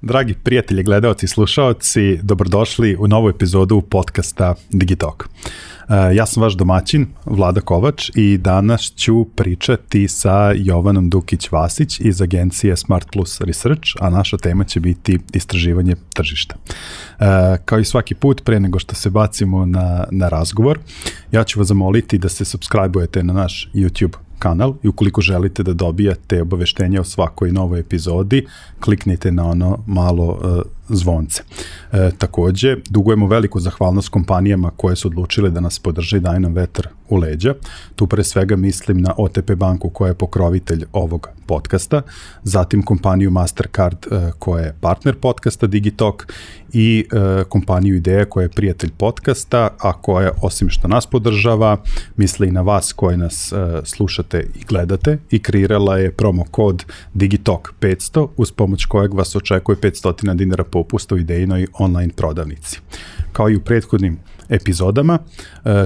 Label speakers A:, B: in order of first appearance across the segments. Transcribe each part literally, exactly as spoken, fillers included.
A: Dragi prijatelji, gledaoci i slušaoci, dobrodošli u novu epizodu podcasta Digitalk. Ja sam vaš domaćin, Vlada Kovač, i danas ću pričati sa Jovanom Dukić-Vasić iz agencije Smart Plus Research, a naša tema će biti istraživanje tržišta. Kao i svaki put, pre nego što se bacimo na, na razgovor, ja ću vas zamoliti da se subscribe-ujete na naš YouTube kanal i ukoliko želite da dobijate obaveštenja o svakoj novoj epizodi, kliknite na ono malo uh, zvonce. E, takođe, dugujemo veliku zahvalnost kompanijama koje su odlučile da nas podrže i daju nam vetar u leđa. Tu pre svega mislim na O T P banku koja je pokrovitelj ovog podcasta, zatim kompaniju Mastercard e, koja je partner podcasta Digitalk i e, kompaniju Ideja koja je prijatelj podcasta, a koja osim što nas podržava, misli i na vas koji nas e, slušate i gledate i kreirala je promo kod Digitalk petsto uz pomoć kojeg vas očekuje petsto dinara popusta u Idejinoj online prodavnici. Kao i u prethodnim epizodama,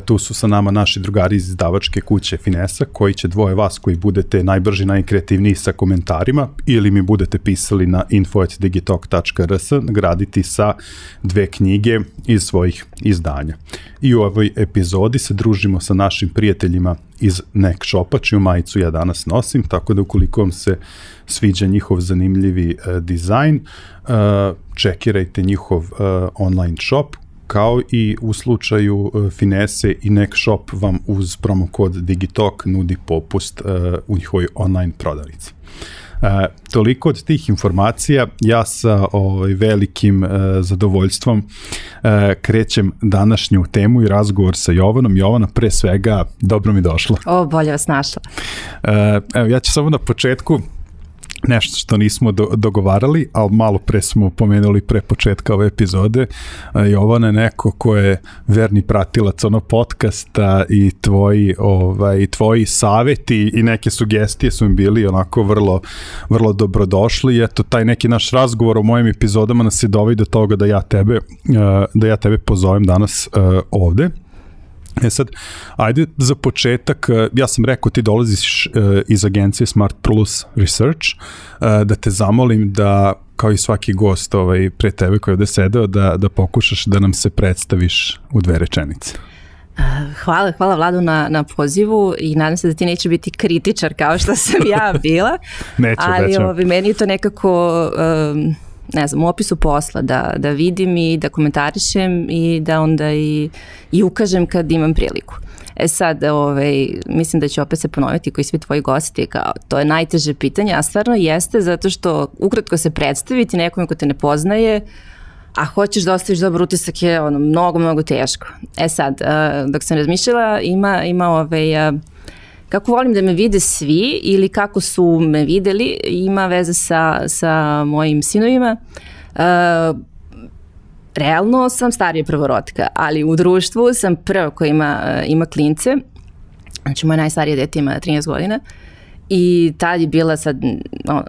A: tu su sa nama naši drugari iz izdavačke kuće Finesa, koji će dvoje vas koji budete najbrži, najkreativniji sa komentarima ili mi budete pisali na info at digitalk tačka r s nagraditi sa dve knjige iz svojih izdanja. I u ovoj epizodi se družimo sa našim prijateljima iz Nek Shopa, čiju majicu ja danas nosim, tako da ukoliko vam se sviđa njihov zanimljivi uh, dizajn, uh, čekirajte njihov uh, online shop, kao i u slučaju uh, Finese i Nek Shop vam uz promo kod Digitalk nudi popust uh, u njihovoj online prodavnici. Uh, toliko od tih informacija, ja sa ovaj, velikim uh, zadovoljstvom uh, krećem današnju temu i razgovor sa Jovanom. Jovana, pre svega, dobro mi došlo.
B: O, bolje vas našla.
A: Uh, evo, ja ću samo na početku nešto što nismo do, dogovarali, ali malo pre smo pomenuli pre početka ove epizode. Jovana je neko ko je verni pratilac ono podcasta i tvoji, ovaj, tvoji saveti i neke sugestije su mi bili onako vrlo, vrlo dobrodošli i eto, taj neki naš razgovor o mojim epizodama nas je doveo do toga da ja tebe, da ja tebe pozovem danas ovde. E sad, ajde za početak, ja sam rekao ti dolaziš iz agencije Smart Plus Research, da te zamolim da, kao i svaki gost ovaj, pre tebe koji je ovde sedeo, da, da pokušaš da nam se predstaviš u dve rečenice.
B: Hvala, hvala Vladu na, na pozivu i nadam se da ti neće biti kritičar kao što sam ja bila.
A: Neću,
B: ali
A: neću.
B: Ovaj, meni je to nekako... Um, ne znam, u opisu posla, da, da vidim i da komentarišem i da onda i, i ukažem kad imam priliku. E sad, ovaj, mislim da ću opet se ponoviti koji svi tvoji gosti, kao to je najteže pitanje, a stvarno jeste zato što ukratko se predstaviti nekome ko te ne poznaje, a hoćeš da ostaviš dobar utisak je ono, mnogo, mnogo teško. E sad, dok sam razmišljala, ima, ima ovaj... Kako volim da me vide svi ili kako su me videli, ima veze sa, sa mojim sinovima. Uh, realno sam starija prvorotka, ali u društvu sam prva koja ima, ima klince. Znači, moje najstarije dete ima trinaest godina. I tad je bila sad, no,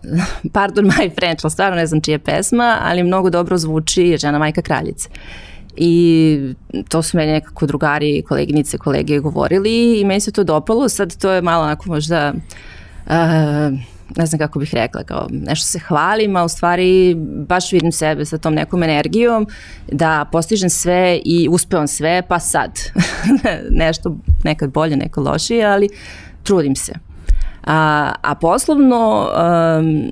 B: pardon my French, ali stvarno ne znam čija je pesma, ali mnogo dobro zvuči Žena majka kraljice. I to su meni nekako drugari, koleginice, kolege govorili i meni se to dopalo. Sad to je malo onako možda, uh, ne znam kako bih rekla, kao nešto se hvalim, a u stvari baš vidim sebe sa tom nekom energijom da postižem sve i uspevam sve, pa sad nešto nekad bolje, nekad lošije, ali trudim se. A, a poslovno... Um,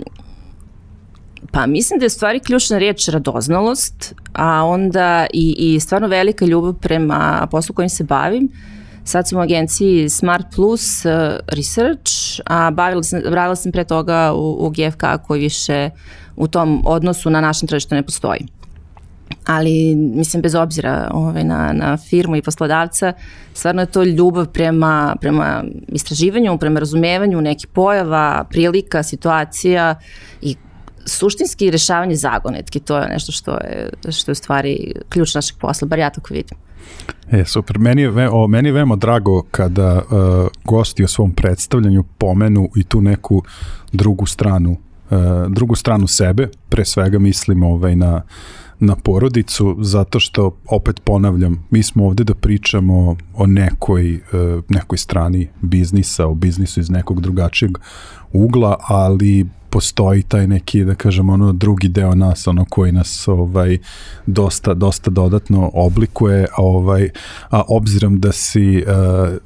B: Pa mislim da je stvari ključna riječ radoznalost, a onda i, i stvarno velika ljubav prema poslu kojim se bavim. Sad sam u agenciji Smart Plus Research, a bavila sam, bavila sam pre toga u, u G F K koji više u tom odnosu na našem tržištu ne postoji. Ali mislim bez obzira ovaj, na, na firmu i poslodavca, stvarno je to ljubav prema, prema istraživanju, prema razumevanju nekih pojava, prilika, situacija i suštinski rešavanje zagonetki, to je nešto što je, što je u stvari ključ našeg posla, bar ja tako vidim.
A: E, super. Meni je, ve, o, meni je veoma drago kada uh, gosti o svom predstavljanju pomenu i tu neku drugu stranu, uh, drugu stranu sebe, pre svega mislim ovaj, na, na porodicu, zato što, opet ponavljam, mi smo ovde da pričamo o nekoj, uh, nekoj strani biznisa, o biznisu iz nekog drugačijeg ugla, ali postoji taj neki, da kažem, ono drugi deo nas, ono koji nas ovaj, dosta, dosta dodatno oblikuje, ovaj, a obzirom da si, uh,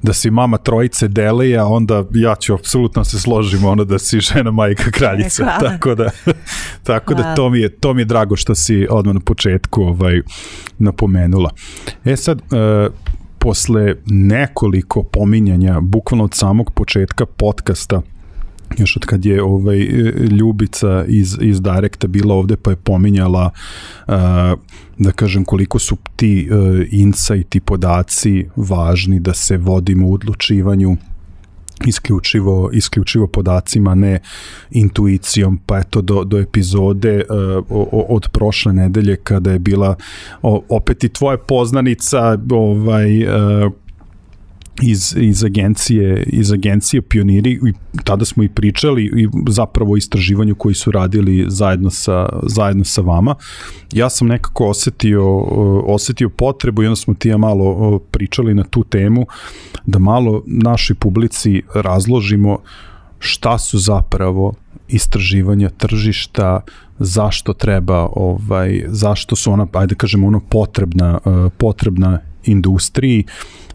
A: da si mama trojice Delija, onda ja ću apsolutno se složim ono da si žena, majka, kraljica.
B: Hvala.
A: Tako da, tako da to, mi je, to mi je drago što si odmah na početku ovaj, napomenula. E sad, uh, posle nekoliko pominjanja, bukvalno od samog početka podcasta, još od kad je ovaj, Ljubica iz, iz Direkta bila ovde pa je pominjala uh, da kažem koliko su ti uh, insighti, podaci važni da se vodimo u odlučivanju isključivo, isključivo podacima, ne intuicijom, pa eto do, do epizode uh, o, od prošle nedelje kada je bila o, opet i tvoja poznanica ovaj, uh, iz, iz agencije iz agencije Pioniri i tada smo i pričali i zapravo o istraživanju koji su radili zajedno sa, zajedno sa vama. Ja sam nekako osetio, osetio potrebu i onda smo ti ja malo pričali na tu temu da malo našoj publici razložimo šta su zapravo istraživanja tržišta, zašto treba, ovaj, zašto su ona, ajde kažemo, ono potrebna, potrebna industriji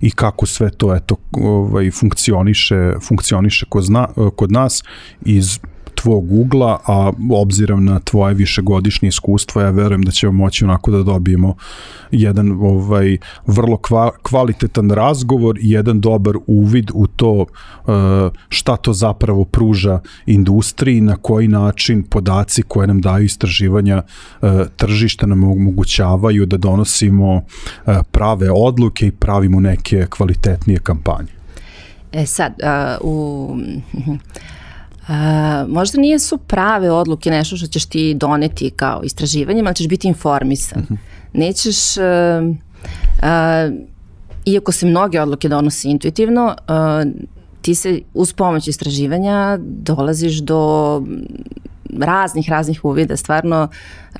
A: i kako sve to eto ovaj funkcioniše funkcioniše kod, zna, kod nas iz tvog ugla, a obzirom na tvoje višegodišnje iskustvo, ja verujem da ćemo moći onako da dobijemo jedan ovaj vrlo kva, kvalitetan razgovor i jedan dobar uvid u to šta to zapravo pruža industriji, na koji način podaci koje nam daju istraživanja tržišta nam omogućavaju da donosimo prave odluke i pravimo neke kvalitetnije kampanje.
B: E sad, uh, u... Uh, možda nije su prave odluke nešto što ćeš ti doneti kao istraživanjem, ali ćeš biti informisan. Uh-huh. Nećeš, uh, uh, iako se mnoge odluke donose intuitivno, uh, ti se uz pomoć istraživanja dolaziš do raznih, raznih uvida, stvarno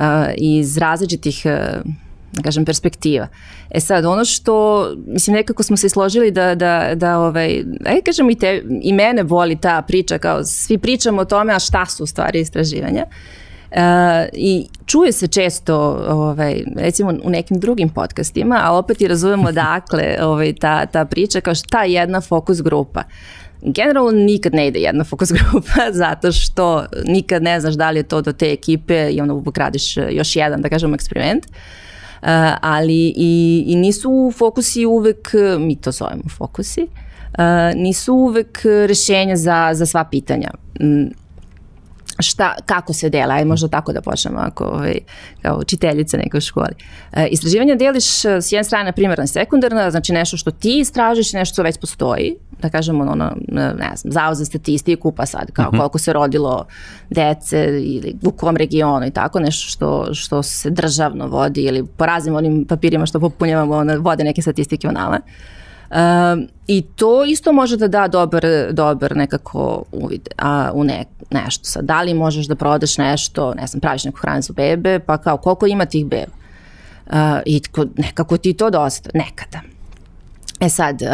B: uh, iz različitih uh, da kažem, perspektiva. E sad, ono što, mislim, nekako smo se složili da, da, da ovaj, ajde kažem i, te, i mene boli ta priča, kao svi pričamo o tome, a šta su u stvari istraživanja. Uh, I čuje se često, ovaj, recimo u nekim drugim podcastima, a opet i razumemo dakle ovaj, ta, ta priča, kao šta je jedna fokus grupa. Generalno nikad ne ide jedna fokus grupa zato što nikad ne znaš da li je to do te ekipe i onda pokradiš još jedan, da kažemo, eksperiment. Uh, ali i, i nisu fokusi uvek, mi to zovemo fokusi, uh, nisu uvek rešenja za, za sva pitanja. Mm, šta, kako se dela, aj možda tako da počnemo ako, ovaj, kao učiteljica neka u školi. Uh, istraživanja deliš s jedne strane primarna i sekundarna, znači nešto što ti istražiš, nešto što već postoji, da kažemo ono, ne znam, zavod za statistiku, pa sad kao uh-huh. koliko se rodilo dece ili u kom regionu i tako, nešto što, što se državno vodi ili po raznim onim papirima što popunjavamo, ono, vode neke statistike onale. Um, I to isto može da da dobar, dobar nekako uvid a, u ne, nešto. Sad, da li možeš da prodaš nešto, ne znam, praviš neku hranu za bebe, pa kao koliko ima tih beba. Uh, I tko, nekako ti to dosta, nekada. E sad, uh,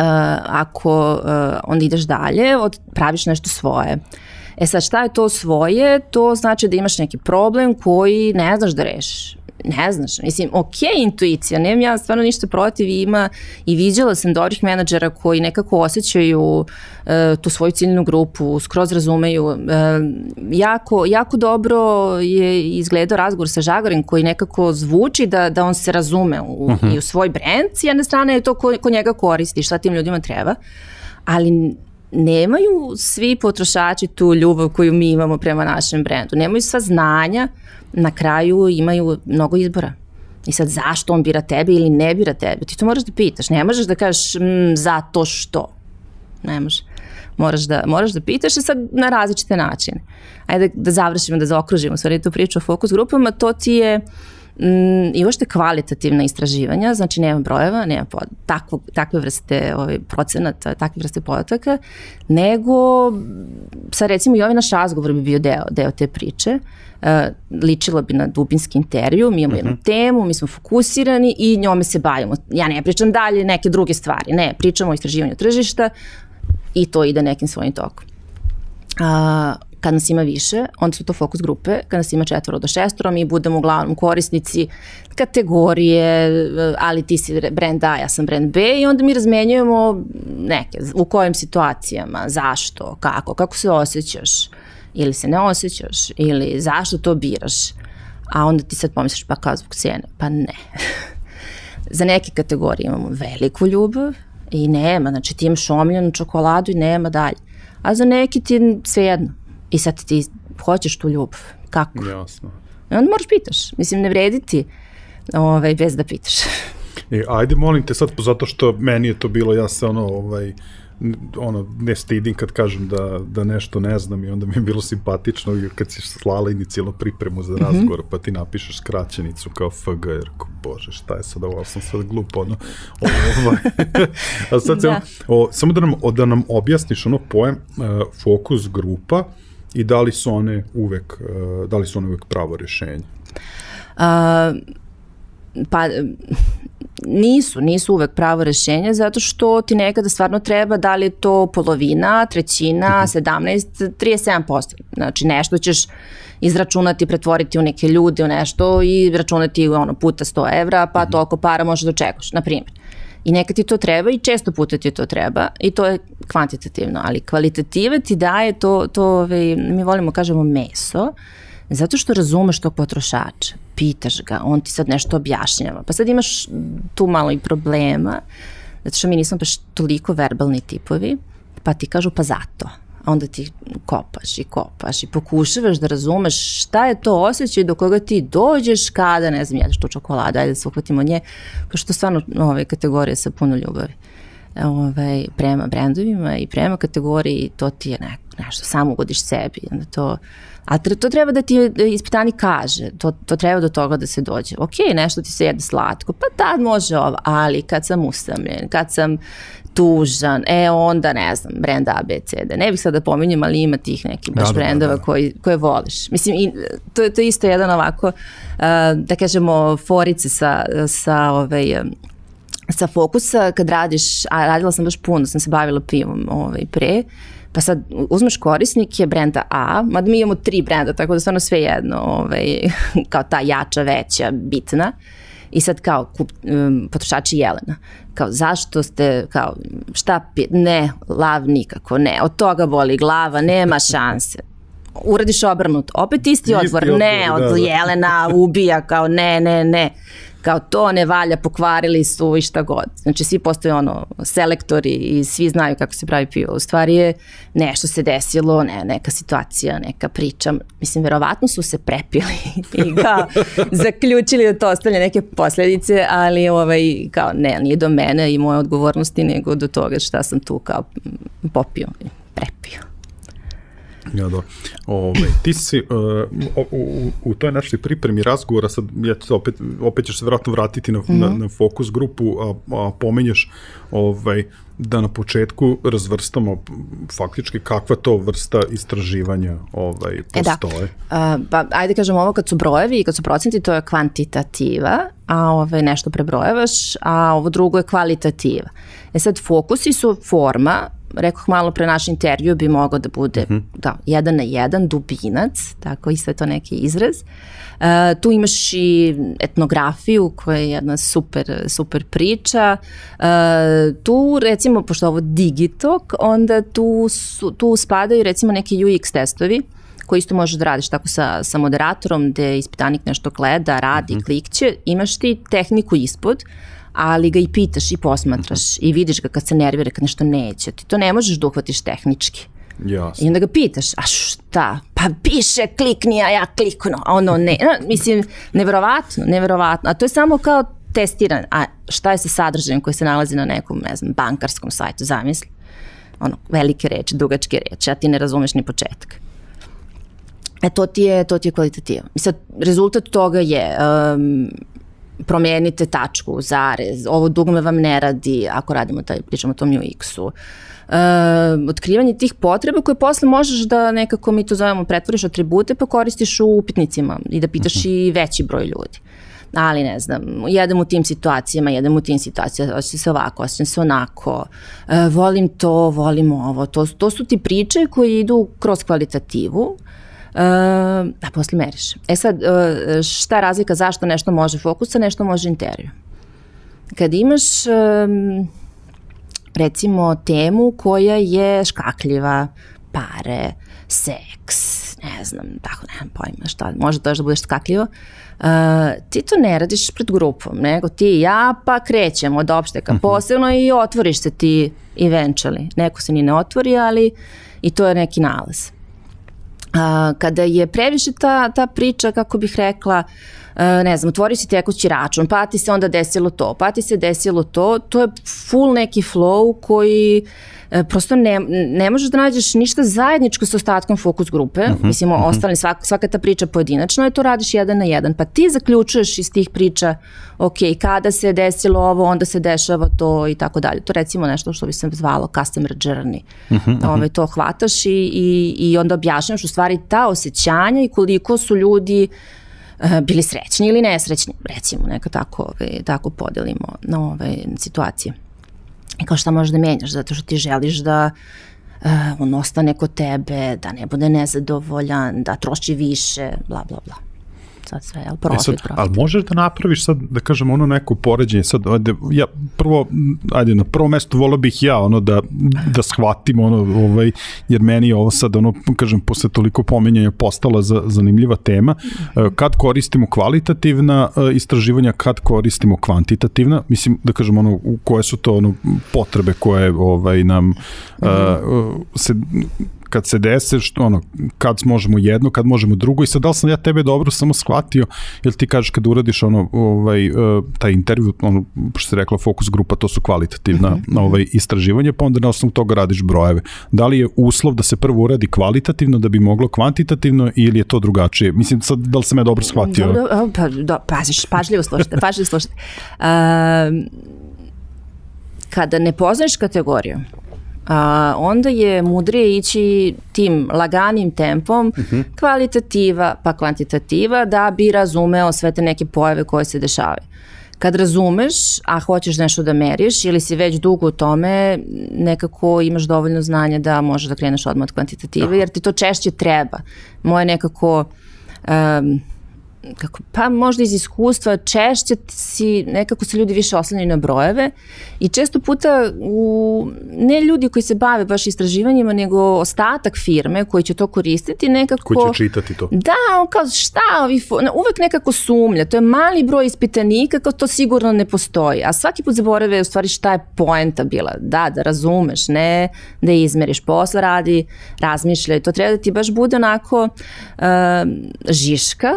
B: ako uh, onda ideš dalje, od, praviš nešto svoje. E sad, šta je to svoje? To znači da imaš neki problem koji ne znaš da rešiš. Ne znaš, mislim, ok, intuicija, nemam ja stvarno ništa protiv, ima i viđala sam dobrih menadžera koji nekako osjećaju uh, tu svoju ciljnu grupu, skroz razumeju. Uh, jako, jako dobro je izgledao razgovor sa Žagarim koji nekako zvuči da, da on se razume u, uh-huh. i u svoj brand, s jedne strane je to ko, ko njega koristi, šta tim ljudima treba, ali nemaju svi potrošači tu ljubav koju mi imamo prema našem brendu, nemaju sva znanja, na kraju imaju mnogo izbora. I sad zašto on bira tebe ili ne bira tebe? Ti to moraš da pitaš. Ne možeš da kažeš mm, zato što. Ne možeš. Moraš da, moraš da pitaš i sad na različite načine. Ajde da, da završimo, da zaokružimo stvari tu priču o fokus grupama. To ti je mm, i uopšte kvalitativna istraživanja, znači nema brojeva, nema pod, takvo, takve vrste ovaj, procenata, takve vrste podataka, nego sad recimo i ovaj naš razgovor bi bio deo, deo te priče. Uh, ličilo bi na dubinski intervju, mi imamo uh-huh. jednu temu, mi smo fokusirani i njome se bavimo. Ja ne pričam dalje neke druge stvari, ne, pričamo o istraživanju tržišta i to ide nekim svojim tokom. Uh, Kad nas ima više, onda su to fokus grupe, kad nas ima četvoro do šestoro, mi budemo uglavnom korisnici kategorije, ali ti si brand A, ja sam brand B i onda mi razmenjujemo neke, u kojim situacijama, zašto, kako, kako se osjećaš ili se ne osjećaš ili zašto to biraš, a onda ti sad pomisliš pa kao zbog cijene, pa ne. Za neke kategorije imamo veliku ljubav i nema, znači ti imaš omiljenu čokoladu i nema dalje, a za neki ti svejedno. I sad ti hoćeš tu ljubav. Kako?
A: Jasno.
B: I onda moraš pitaš. Mislim, ne vredi ti ovaj, bez da pitaš.
A: E, ajde, molim te sad, zato što meni je to bilo, ja se ono, ovaj, ono, ne stidim kad kažem da, da nešto ne znam i onda mi je bilo simpatično kad si slala inicijalnu pripremu za razgovor, mm-hmm. pa ti napišeš skraćenicu kao F G, jer ko, bože, šta je sad ovo, sam sad glupo, ono, ovaj, a sad da. se, o, samo da nam, da nam objasniš ono pojem uh, fokus grupa i da li su one uvek, uh, da li su one uvek pravo rješenje?
B: Uh, pa nisu, nisu uvek pravo rešenje zato što ti nekada stvarno treba da li je to polovina, trećina, sedamnaest, trideset sedam posto. Znači nešto ćeš izračunati, pretvoriti u neke ljude, u nešto i računati ono, puta sto evra, pa toliko para možeš da očekuješ, na primjer. I nekad ti to treba i često puta ti to treba i to je kvantitativno, ali kvalitativa ti daje to, to ovaj, mi volimo kažemo meso, zato što razumeš tog potrošača, pitaš ga, on ti sad nešto objašnjava, pa sad imaš tu malo i problema, zato što mi nismo baš toliko verbalni tipovi, pa ti kažu pa zato, a onda ti kopaš i kopaš i pokušavaš da razumeš šta je to osjećaj do koga ti dođeš kada, ne znam, jedeš tu čokoladu, ajde da se uhvatimo nje, pošto stvarno ove kategorije sa puno ljubavi. Ove, prema brendovima i prema kategoriji, to ti je ne, nešto, samo ugodiš sebi, onda to, a to treba da ti ispitani kaže, to, to treba do toga da se dođe. Ok, nešto ti se jede slatko, pa tad može ovo, ali kad sam usamljen, kad sam tužan, e onda ne znam, brend A, B, C, D. Ne bih sad da pominjem, ali ima tih nekih baš da, brendova da, da. Koji, koje voliš. Mislim, i, to, to je isto jedan ovako, uh, da kažemo, forice sa, sa ovaj, sa fokusa, kad radiš, a radila sam baš puno, sam se bavila pivom ovaj, pre, pa sad uzmeš korisnike brenda A, mada mi imamo tri brenda, tako da stvarno sve jedno, ovaj, kao ta jača, veća, bitna, i sad kao kup, um, potrošači Jelena, kao zašto ste, kao šta pi, ne, lav nikako, ne, od toga boli glava, nema šanse. Uradiš obrnut, opet isti odgovor, ne, od da, da. Jelena ubija, kao ne, ne, ne. Kao to ne valja, pokvarili su i šta god. Znači svi postoje ono selektori i svi znaju kako se pravi pivo. U stvari je nešto se desilo, ne, neka situacija, neka priča. Mislim, verovatno su se prepili i kao zaključili da to ostavlja neke posljedice, ali ovaj, kao ne, nije do mene i moje odgovornosti, nego do toga šta sam tu kao popio i prepio.
A: Ja, da. Ove, ti si uh, u, u, u toj našoj pripremi razgovora, sad ja ću opet, opet ćeš se vratno vratiti na, mm-hmm. na, na fokus grupu, a, a pomenješ ovaj, da na početku razvrstamo faktički kakva to vrsta istraživanja ovaj, postoje.
B: E da. Uh, pa, ajde kažem ovo, kad su brojevi i kad su procenti, to je kvantitativa, a ovaj, nešto prebrojevaš, a ovo drugo je kvalitativa. E sad, fokusi su forma, rekoh malo pre naš intervju bi mogao da bude mm-hmm. da, jedan na jedan, dubinac, tako isto je to neki izraz. Uh, tu imaš i etnografiju koja je jedna super, super priča. Uh, tu recimo, pošto ovo Digitalk, onda tu, su, tu spadaju recimo neki U X testovi koji isto možeš da radiš tako sa, sa moderatorom gde ispitanik nešto gleda, radi, mm-hmm. klikće, imaš ti tehniku ispod, ali ga i pitaš i posmatraš i vidiš ga kad se nervira, kad nešto neće. Ti to ne možeš da uhvatiš tehnički.
A: Jasno.
B: I onda ga pitaš, a šta? Pa piše klikni, a ja kliknu. A ono ne. No, mislim, neverovatno, neverovatno. A to je samo kao testiran. A šta je sa sadržajem koji se nalazi na nekom, ne znam, bankarskom sajtu, zamisli. Ono, velike reči, dugačke reči, a ti ne razumeš ni početak. E, to ti je, to ti je kvalitativa. I sad, rezultat toga je... Um, promijenite tačku, zarez, ovo dugme vam ne radi, ako radimo taj, pričamo o tom U X-u. E, otkrivanje tih potreba koje posle možeš da nekako, mi to zovemo, pretvoriš atribute pa koristiš u upitnicima i da pitaš uh-huh. i veći broj ljudi. ali ne znam, jedem u tim situacijama, jedem u tim situacijama, osjećam se ovako, osjećam se onako, e, volim to, volim ovo, to, to su ti priče koje idu kroz kvalitativu, e, a posle meriš. E sad, e, šta je razlika zašto nešto može fokus, a nešto može intervju? Kad imaš, e, recimo, temu koja je škakljiva, pare, seks, ne znam, tako nemam pojma šta, može to još da budeš skakljivo, uh, ti to ne radiš pred grupom, nego ti i ja pa krećemo od opšteka posebno i otvoriš se ti eventually. Neko se ni ne otvori, ali i to je neki nalaz. Uh, kada je previše ta, ta priča, kako bih rekla, uh, ne znam, otvori si tekući račun, pa ti se onda desilo to, pa ti se desilo to, to je full neki flow koji uh, prosto ne, ne možeš da nađeš ništa zajedničko sa ostatkom fokus grupe, uh-huh, mislim, uh-huh. ostali, svaka, svaka ta priča pojedinačno je to radiš jedan na jedan, pa ti zaključuješ iz tih priča, ok, kada se desilo ovo, onda se dešava to i tako dalje. To recimo nešto što bi se zvalo customer journey. Uh-huh, uh-huh. Ove, to hvataš i, i, i onda objašnjaš u stvari ta osjećanja i koliko su ljudi uh, bili srećni ili nesrećni, recimo, neka tako, ove, tako podelimo na ove situacije. I kao šta možeš da menjaš, zato što ti želiš da uh, on ostane kod tebe, da ne bude nezadovoljan, da troši više, bla, bla, bla. Sad sve, jel, profit,
A: e sad,
B: profit.
A: Ali možeš da napraviš sad, da kažem, ono neko poređenje, sad, ajde, ja prvo, ajde, na prvo mesto volio bih ja, ono, da, da shvatim, ono, ovaj, jer meni je ovo sad, ono, kažem, posle toliko pomenjanja postala za, zanimljiva tema, kad koristimo kvalitativna istraživanja, kad koristimo kvantitativna, mislim, da kažem, ono, koje su to, ono, potrebe koje, ovaj, nam mm-hmm. uh, se kad se dese, što, ono, kad možemo jedno, kad možemo drugo i sad da li sam ja tebe dobro samo shvatio, jer ti kažeš kad uradiš ono, ovaj, uh, taj intervju, ono, što se rekla fokus grupa, to su kvalitativna mm-hmm. ovaj, istraživanja, pa onda na osnovu toga radiš brojeve. Da li je uslov da se prvo uradi kvalitativno da bi moglo kvantitativno ili je to drugačije? Mislim, sad, da li sam ja dobro shvatio?
B: Dobro, pa, do, paziš, pažljivo slušajte, pažljivo slušajte. Uh, kada ne poznaš kategoriju, Uh, onda je mudrije ići tim laganim tempom, uh-huh. kvalitativa pa kvantitativa, da bi razumeo sve te neke pojave koje se dešavaju. Kad razumeš, a hoćeš nešto da meriš ili si već dugo u tome, nekako imaš dovoljno znanja da možeš da kreneš odmah od kvantitative, jer ti to češće treba. Moje nekako... Um, kako, pa možda iz iskustva češće si, nekako se ljudi više oslanjaju na brojeve i često puta u, ne ljudi koji se bave baš istraživanjima, nego ostatak firme koji će to koristiti nekako...
A: Koji će čitati to.
B: Da, on kao šta, ovi, uvek nekako sumlja, to je mali broj ispitanika, kao to sigurno ne postoji, a svaki put zaborave u stvari šta je poenta bila, da, da razumeš, ne da izmeriš, posle radi, razmišljaj, to treba da ti baš bude onako uh, žiška,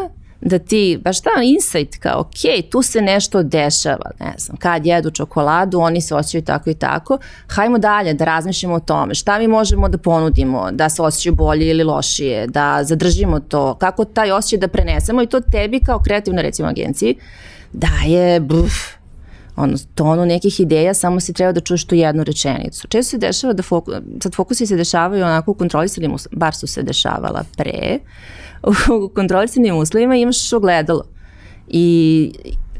B: da ti, baš ta insight kao, ok, tu se nešto dešava, ne znam, kad jedu čokoladu, oni se osjećaju tako i tako, hajmo dalje da razmišljamo o tome, šta mi možemo da ponudimo, da se osjećaju bolje ili lošije, da zadržimo to, kako taj osjećaj da prenesemo i to tebi kao kreativnoj, recimo, agenciji daje, buf, ono, tonu nekih ideja, samo si treba da čuješ tu jednu rečenicu. Često se dešava da fokus, sad fokusi se dešavaju onako u kontrolisanim, bar su se dešavala pre, u kontrolisanim uslovima imaš ogledalo i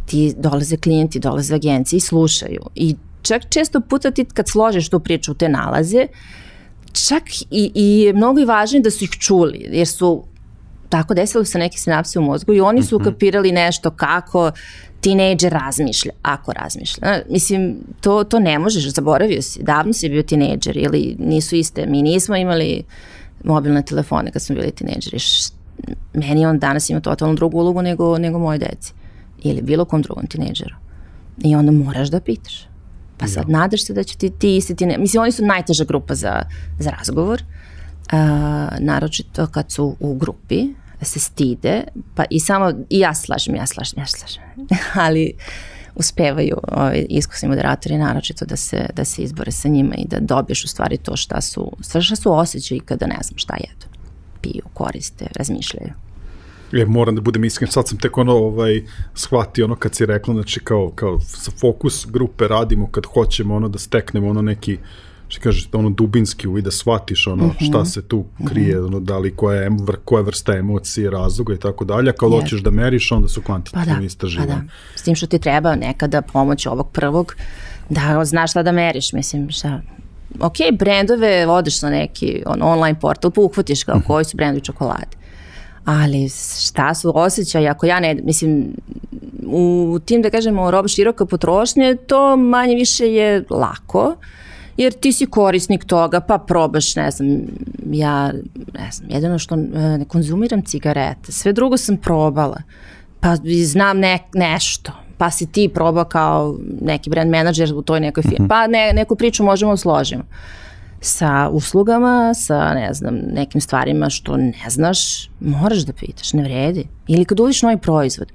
B: ti dolaze klijenti, dolaze agencije i slušaju. I čak često puta ti kad složiš tu priču u te nalaze, čak i, i mnogo je važnije da su ih čuli, jer su tako desili se neke sinapse u mozgu i oni su ukapirali nešto kako tinejdžer razmišlja, ako razmišlja. Mislim, to, to ne možeš, zaboravio si, davno si bio tinejdžer ili nisu iste. Mi nismo imali mobilne telefone kad smo bili tinejdžeri. Meni on danas ima totalno drugu ulogu nego, nego moje deci. Ili bilo kom drugom tinejdžeru. I onda moraš da pitaš. Pa sad ja. Nadaš se da će ti, ti isti tinejdžeri. Mislim, oni su najteža grupa za, za razgovor. Uh, naročito kad su u grupi, se stide, pa i samo, i ja slažem, ja slažem, ja slažem. Ali uspevaju ovi iskusni moderatori naročito da se, da se izbore sa njima i da dobiješ u stvari to šta su, šta su osjećaji kada ne znam šta jedu. Piju, koriste, razmišljaju.
A: Ja moram da budem iskren, sad sam tek ono ovaj, shvatio ono kad si rekla, znači kao, kao sa fokus grupe radimo kad hoćemo ono da steknemo ono neki što kažeš, ono dubinski uvid da shvatiš ono mm-hmm. šta se tu krije, mm-hmm. ono, da li koja, je, koja vrsta emocije, razloga i tako dalje, a kao yes. hoćeš da meriš, onda su kvantitativni pa da, istraživanja. Pa da,
B: s tim što ti treba nekada pomoć ovog prvog, da znaš šta da meriš, mislim, šta... Ok, brendove, odeš na neki on, online portal, pa uhvatiš kao koji su brendovi čokolade. Ali šta su osjećaji, ako ja ne, mislim, u tim, da kažemo, roba široka potrošnje, to manje više je lako, jer ti si korisnik toga, pa probaš, ne znam, ja, ne znam, jedino što ne konzumiram cigarete, sve drugo sam probala, pa znam ne, nešto, pa si ti probao kao neki brand menadžer u toj nekoj firmi, pa ne, neku priču možemo da složimo. Sa uslugama, sa, ne znam, nekim stvarima što ne znaš, moraš da pitaš, ne vredi. Ili kad uviš novi proizvod.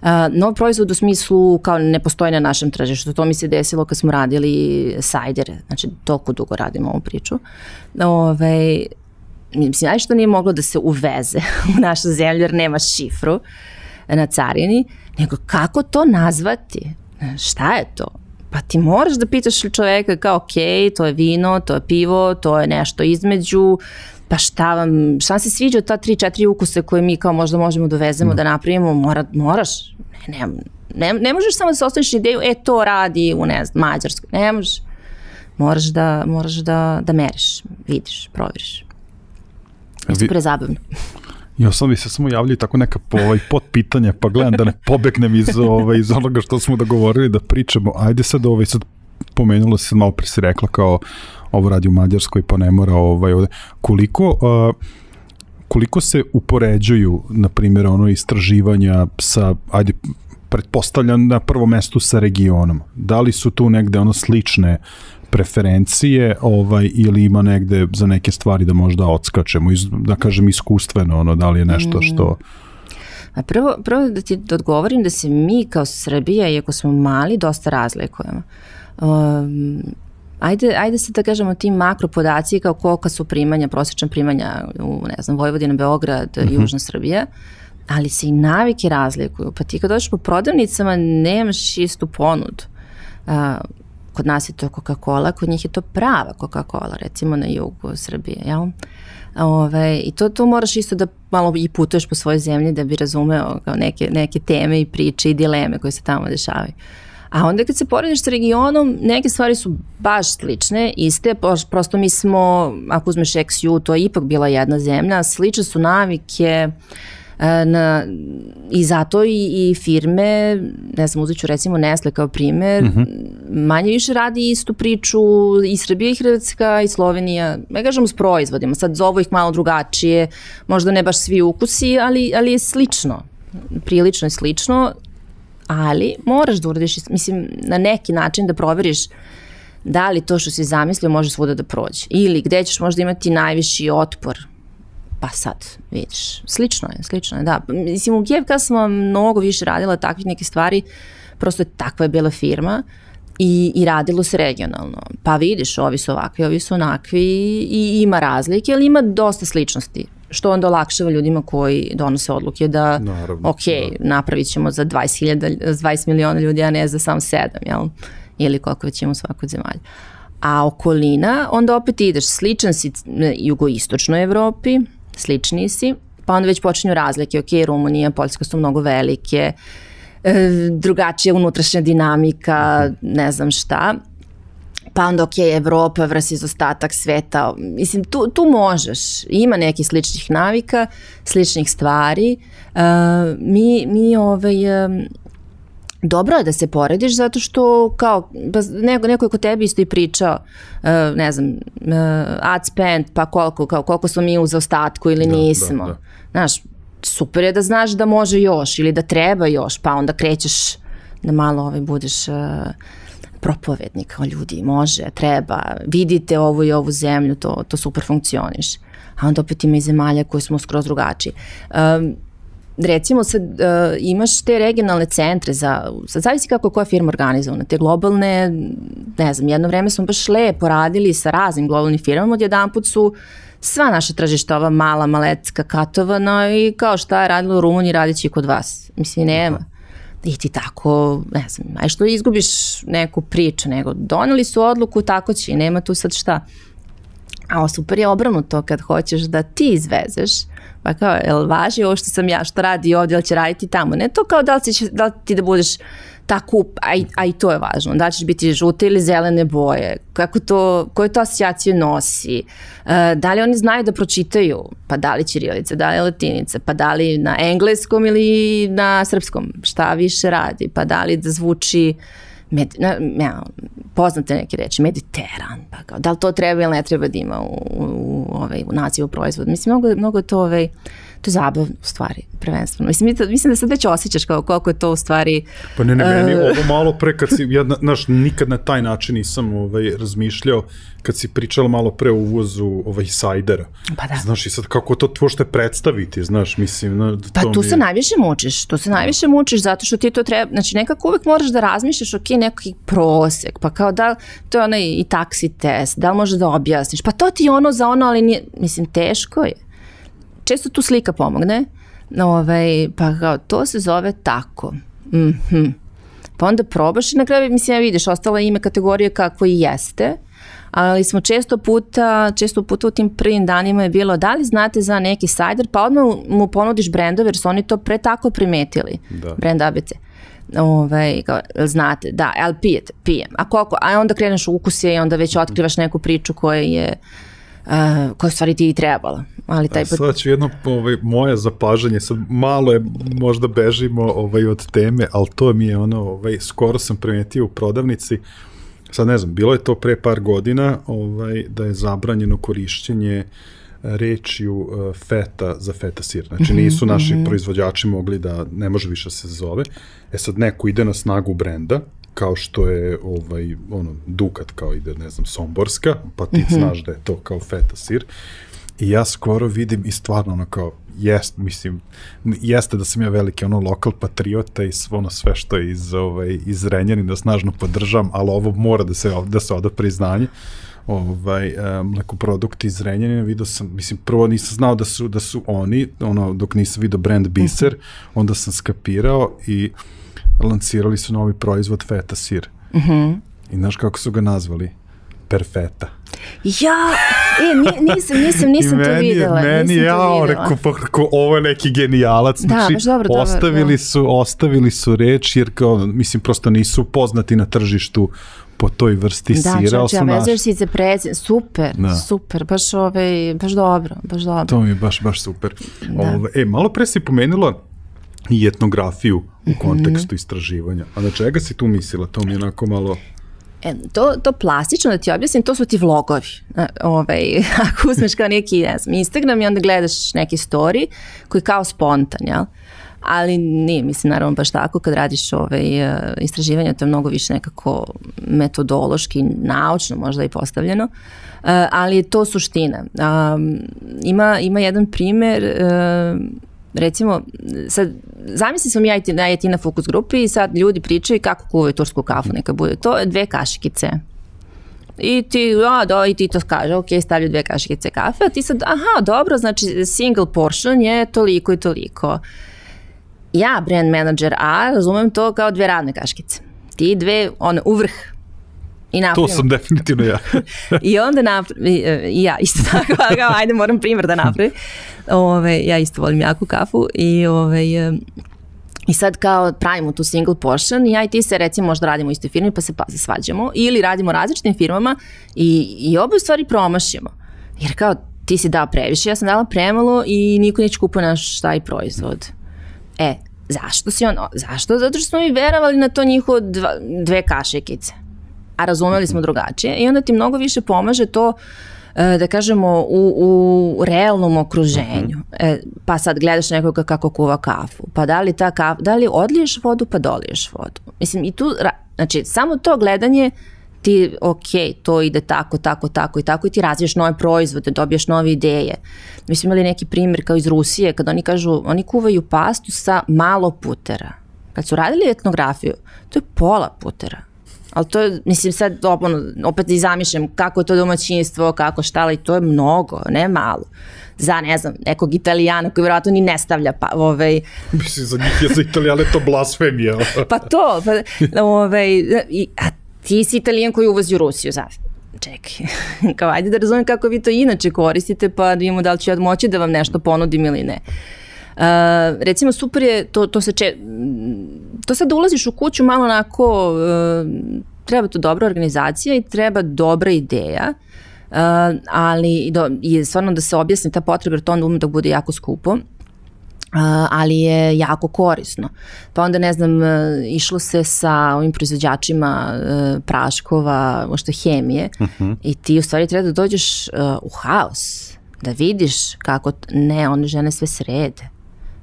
B: Uh, nov proizvod u smislu kao ne postoji na našem tržištu. To mi se desilo kad smo radili sajdere, znači toliko dugo radimo ovu priču. Ove, mislim, ajde što nije moglo da se uveze u našu zemlju jer nema šifru na carini, nego kako to nazvati? Šta je to? Pa ti moraš da pitaš čoveka kao ok, to je vino, to je pivo, to je nešto između, pa šta vam, šta vam se sviđa od ta tri, četiri ukuse koje mi kao možda možemo dovezemo no. da napravimo, mora, moraš, ne, ne, ne, ne možeš samo da se ostaviš ideju, e to radi u ne znam, Mađarskoj, ne možeš, moraš da, moraš da, da meriš, vidiš, provjeriš. Isto prezabavno.
A: Ja sam bi se samo javljaju tako neka po, ovaj, pod pitanja, pa gledam da ne pobegnem iz, ovaj, iz onoga što smo dogovorili da pričamo. Ajde sad, ovaj, sad pomenulo se, malo pre si rekla kao ovo radi u Mađarskoj, pa ne mora ovaj, ovde. Koliko, uh, koliko se upoređuju, na primjer, ono istraživanja sa, ajde, pretpostavljam na prvom mestu sa regionom. Da li su tu negde ono slične preferencije ovaj, ili ima negde za neke stvari da možda odskačemo, iz, da kažem iskustveno, ono, da li je nešto što...
B: A prvo, prvo da ti odgovorim da se mi kao Srbija, iako smo mali, dosta razlikujemo. Um, ajde, ajde se da kažemo ti makro podaci kao kolika su primanja, prosječna primanja u, ne znam, Vojvodina, Beograd, uh-huh. Južna Srbija, ali se i navike razlikuju. Pa ti kad dođeš po prodavnicama nemaš istu ponudu. Uh, Kod nas je to Coca-Cola, kod njih je to prava Coca-Cola, recimo na jugu Srbije, jel? Ove, I to, to moraš isto da malo i putuješ po svojoj zemlji da bi razumeo kao neke, neke teme i priče i dileme koje se tamo dešavaju. A onda kad se porediš sa regionom, neke stvari su baš slične, iste, prosto mi smo, ako uzmeš X U, to je ipak bila jedna zemlja, slične su navike, Na, i zato i, i firme, ne znam, uzet ću recimo Nestle kao primer, uh-huh. manje više radi istu priču i Srbija i Hrvatska i Slovenija, ne kažem s proizvodima, sad zovu ih malo drugačije, možda ne baš svi ukusi, ali, ali je slično, prilično je slično, ali moraš da uradiš, mislim, na neki način da proveriš da li to što si zamislio može svuda da prođe ili gde ćeš možda imati najviši otpor. Pa sad, vidiš, slično je, slično je, da. Mislim, u G F K smo mnogo više radila takvih neke stvari, prosto takva je bila firma i, i radilo se regionalno. Pa vidiš, ovi su ovakvi, ovi su onakvi i ima razlike, ali ima dosta sličnosti, što onda olakšava ljudima koji donose odluke da, naravno, ok, da. napravit ćemo za dvadeset hiljada, dvadeset miliona ljudi, a ne za samo sedam, jel? Ili koliko već imamo u svakoj zemalji. A okolina, onda opet ideš, sličan si jugoistočnoj Evropi, slični si, pa onda već počinju razlike, ok, Rumunija, Poljska su mnogo velike, e, drugačija unutrašnja dinamika, ne znam šta, pa onda ok, Evropa versus ostatak sveta, mislim, tu, tu možeš, ima nekih sličnih navika, sličnih stvari, e, mi, mi ovaj... E, dobro je da se porediš zato što kao neko, neko je kod tebi isto i pričao uh, ne znam uh, ad spend pa koliko, kao, koliko smo mi u zaostatku ili da, nismo. Da, da. Znaš, super je da znaš da može još ili da treba još, pa onda krećeš da malo ovaj, budeš uh, propovednik, kao ljudi, može, treba, vidite ovu i ovu zemlju, to, to super funkcioniš. A onda opet ima i zemalja koje smo skroz drugačiji. Um, recimo sad uh, imaš te regionalne centre za, sad zavisi kako je koja firma organizovana, te globalne, ne znam, jedno vreme smo baš lepo radili sa raznim globalnim firmama, odjedan put su sva naša tržišta, ova mala, malecka, katovana i kao šta je radilo u Rumuniji, radit će i kod vas. Mislim, nema. I ti tako, ne znam, aj što izgubiš neku priču, nego doneli su odluku, tako će i nema tu sad šta. A super je obrnuto kad hoćeš da ti izvezeš, pa kao, jel važi ovo što sam ja, što radi ovdje, ili će raditi tamo? Ne to kao da li, će, da li ti da budeš tako, a i, a i to je važno, da li ćeš biti žute ili zelene boje, kako to, koju to asocijaciju nosi, uh, da li oni znaju da pročitaju, pa da li ćirilica, da li latinica, pa da li na engleskom ili na srpskom, šta više radi, pa da li da zvuči med, na, ja, poznate neke reči, mediteran, pa kao, da li to treba ili ne treba da ima u, u, u, ovaj, u nazivu proizvoda. Mislim, mnogo, mnogo to, ovaj, to je zabavno u stvari, prvenstveno. Mislim, mislim da sad već osjećaš kao koliko je to u stvari...
A: Pa ne, ne, meni ovo malo pre, kad si, ja, znaš, nikad na taj način nisam ovaj, razmišljao, kad si pričala malo pre o uvozu ovaj, sajdera.
B: Pa da.
A: Znaš, i sad kako to tvošte predstaviti, znaš, mislim... Na,
B: pa
A: to
B: tu
A: mi...
B: se najviše mučiš, tu se najviše mučiš zato što ti to treba, znači nekako uvek moraš da razmišljaš, ok, neki prosek, pa kao da, to je onaj i taksi test, da li možeš da objasniš, pa to ti je ono za ono, ali nije, mislim, teško je. Često tu slika pomogne, ovaj, pa kao, to se zove tako. Mm-hmm. Pa onda probaš i na kraju, mislim, ja vidiš, ostala ime kategorije kako i jeste, ali smo često puta, često puta u tim prvim danima je bilo, da li znate za neki sajder, pa odmah mu ponudiš brendove, jer su oni to pre tako primetili, da. Brend A B C. Ovaj, kao, znate, da, ali pijete, pijem. A koliko? A onda kreneš u ukusje i onda već otkrivaš neku priču koja je Uh, koja stvari ti i trebala. Ali taj
A: put... Sad ću jedno ovaj, moje zapažanje, sad malo je, možda bežimo ovaj, od teme, ali to mi je ono, ovaj, skoro sam primetio u prodavnici, sad ne znam, bilo je to pre par godina, ovaj, da je zabranjeno korišćenje rečju uh, feta za feta sir. Znači nisu naši mm-hmm. proizvođači mogli da, ne može više se zove. E sad neko ide na snagu brenda, kao što je ovaj, ono, Dukat, kao ide, ne znam, Somborska, pa ti mm-hmm. znaš da je to kao feta sir. I ja skoro vidim i stvarno ono kao, jest, mislim, jeste da sam ja veliki ono lokal patriota i ono sve što je iz, ovaj, iz Renjanina snažno podržam, ali ovo mora da se, da se oda priznanje. Ovaj, um, mlekoprodukti iz Renjanina, vidio sam, mislim, prvo nisam znao da su, da su oni, ono, dok nisam vidio brand Biser, mm-hmm. onda sam skapirao i lancirali su novi proizvod feta sir. Mm-hmm. I znaš kako su ga nazvali? Perfeta.
B: Ja, e, nisam, nisam, nisam to videla.
A: Meni je, ja, rekao, pa kako ovo je neki genijalac.
B: Da,
A: znači,
B: baš dobro,
A: ostavili
B: dobro,
A: su, ostavili su reč, jer kao, mislim, prosto nisu poznati na tržištu po toj vrsti
B: da,
A: sira.
B: Da, čoče, a vezuješ si se prezir, super, da. super, baš, ove, baš dobro, baš dobro.
A: To mi je baš, baš super. Ove, e, malo pre si pomenula i etnografiju u kontekstu mm-hmm. istraživanja. A na čega si tu mislila? To mi je onako malo...
B: E, to, to plastično da ti objasnim, to su ti vlogovi. Ovaj, ako uzmeš kao neki, ne znam, Instagram i onda gledaš neki story koji je kao spontan, jel? Ali nije, mislim, naravno baš tako kad radiš ovaj, istraživanje, to je mnogo više nekako metodološki, naučno možda i postavljeno, ali je to suština. Ima, ima jedan primer, recimo, sad, zamisli sam ja i ti, ja i ti na fokus grupi i sad ljudi pričaju kako kuvaju tursku kafu, neka bude to dve kašikice. I ti, a, do, i ti to kaže, ok, stavljaju dve kašikice kafe, a ti sad, aha, dobro, znači single portion je toliko i toliko. Ja, brand manager A, razumem to kao dve ravne kaškice. Ti dve, one, u vrh. I napravim.
A: To sam definitivno ja.
B: I onda napravim, i ja isto tako, kao, ajde, moram primjer da napravim. Ove, ja isto volim jaku kafu i, ove, i sad kao pravimo tu single portion i ja i ti se recimo možda radimo u istoj firmi pa se pa se svađamo ili radimo različitim firmama i, i obe stvari promašimo. Jer kao ti si dao previše, ja sam dala premalo i niko neće kupuje naš taj proizvod. E, zašto si ono? Zašto? Zato što smo mi verovali na to njihovo dva, dve kašikice. A razumeli smo drugačije i onda ti mnogo više pomaže to da kažemo u, u realnom okruženju. E, pa sad gledaš nekoga kako kuva kafu. Pa da li ta kafa, da li odliješ vodu pa doliješ vodu. Mislim i tu, znači samo to gledanje ti, ok, to ide tako, tako, tako i tako i ti razviješ nove proizvode, dobiješ nove ideje. Mi smo imali neki primjer kao iz Rusije, kada oni kažu, oni kuvaju pastu sa malo putera. Kad su radili etnografiju, to je pola putera. Ali to je, mislim sad, ono, opet i zamišljam kako je to domaćinstvo, kako šta, ali to je mnogo, ne malo. Za, ne znam, nekog Italijana koji vjerojatno ni ne stavlja, pa, ovaj...
A: Mislim, za njih je za Italijane to blasfemija.
B: Pa to, pa, ovaj, i, a ti si Italijan koji uvozi u Rusiju, znaš. Čekaj, kao ajde da razumijem kako vi to inače koristite, pa da imamo da li ću ja moći da vam nešto ponudim ili ne. Uh, recimo super je, to, to se če, to sad da ulaziš u kuću malo onako, uh, treba to dobra organizacija i treba dobra ideja, uh, ali do, i stvarno da se objasni ta potreba, jer to onda ume da bude jako skupo. Uh, ali je jako korisno. Pa onda, ne znam, uh, išlo se sa ovim proizvođačima uh, praškova, možda hemije, uh-huh. i ti u stvari treba da dođeš uh, u haos, da vidiš kako, ne, one žene sve srede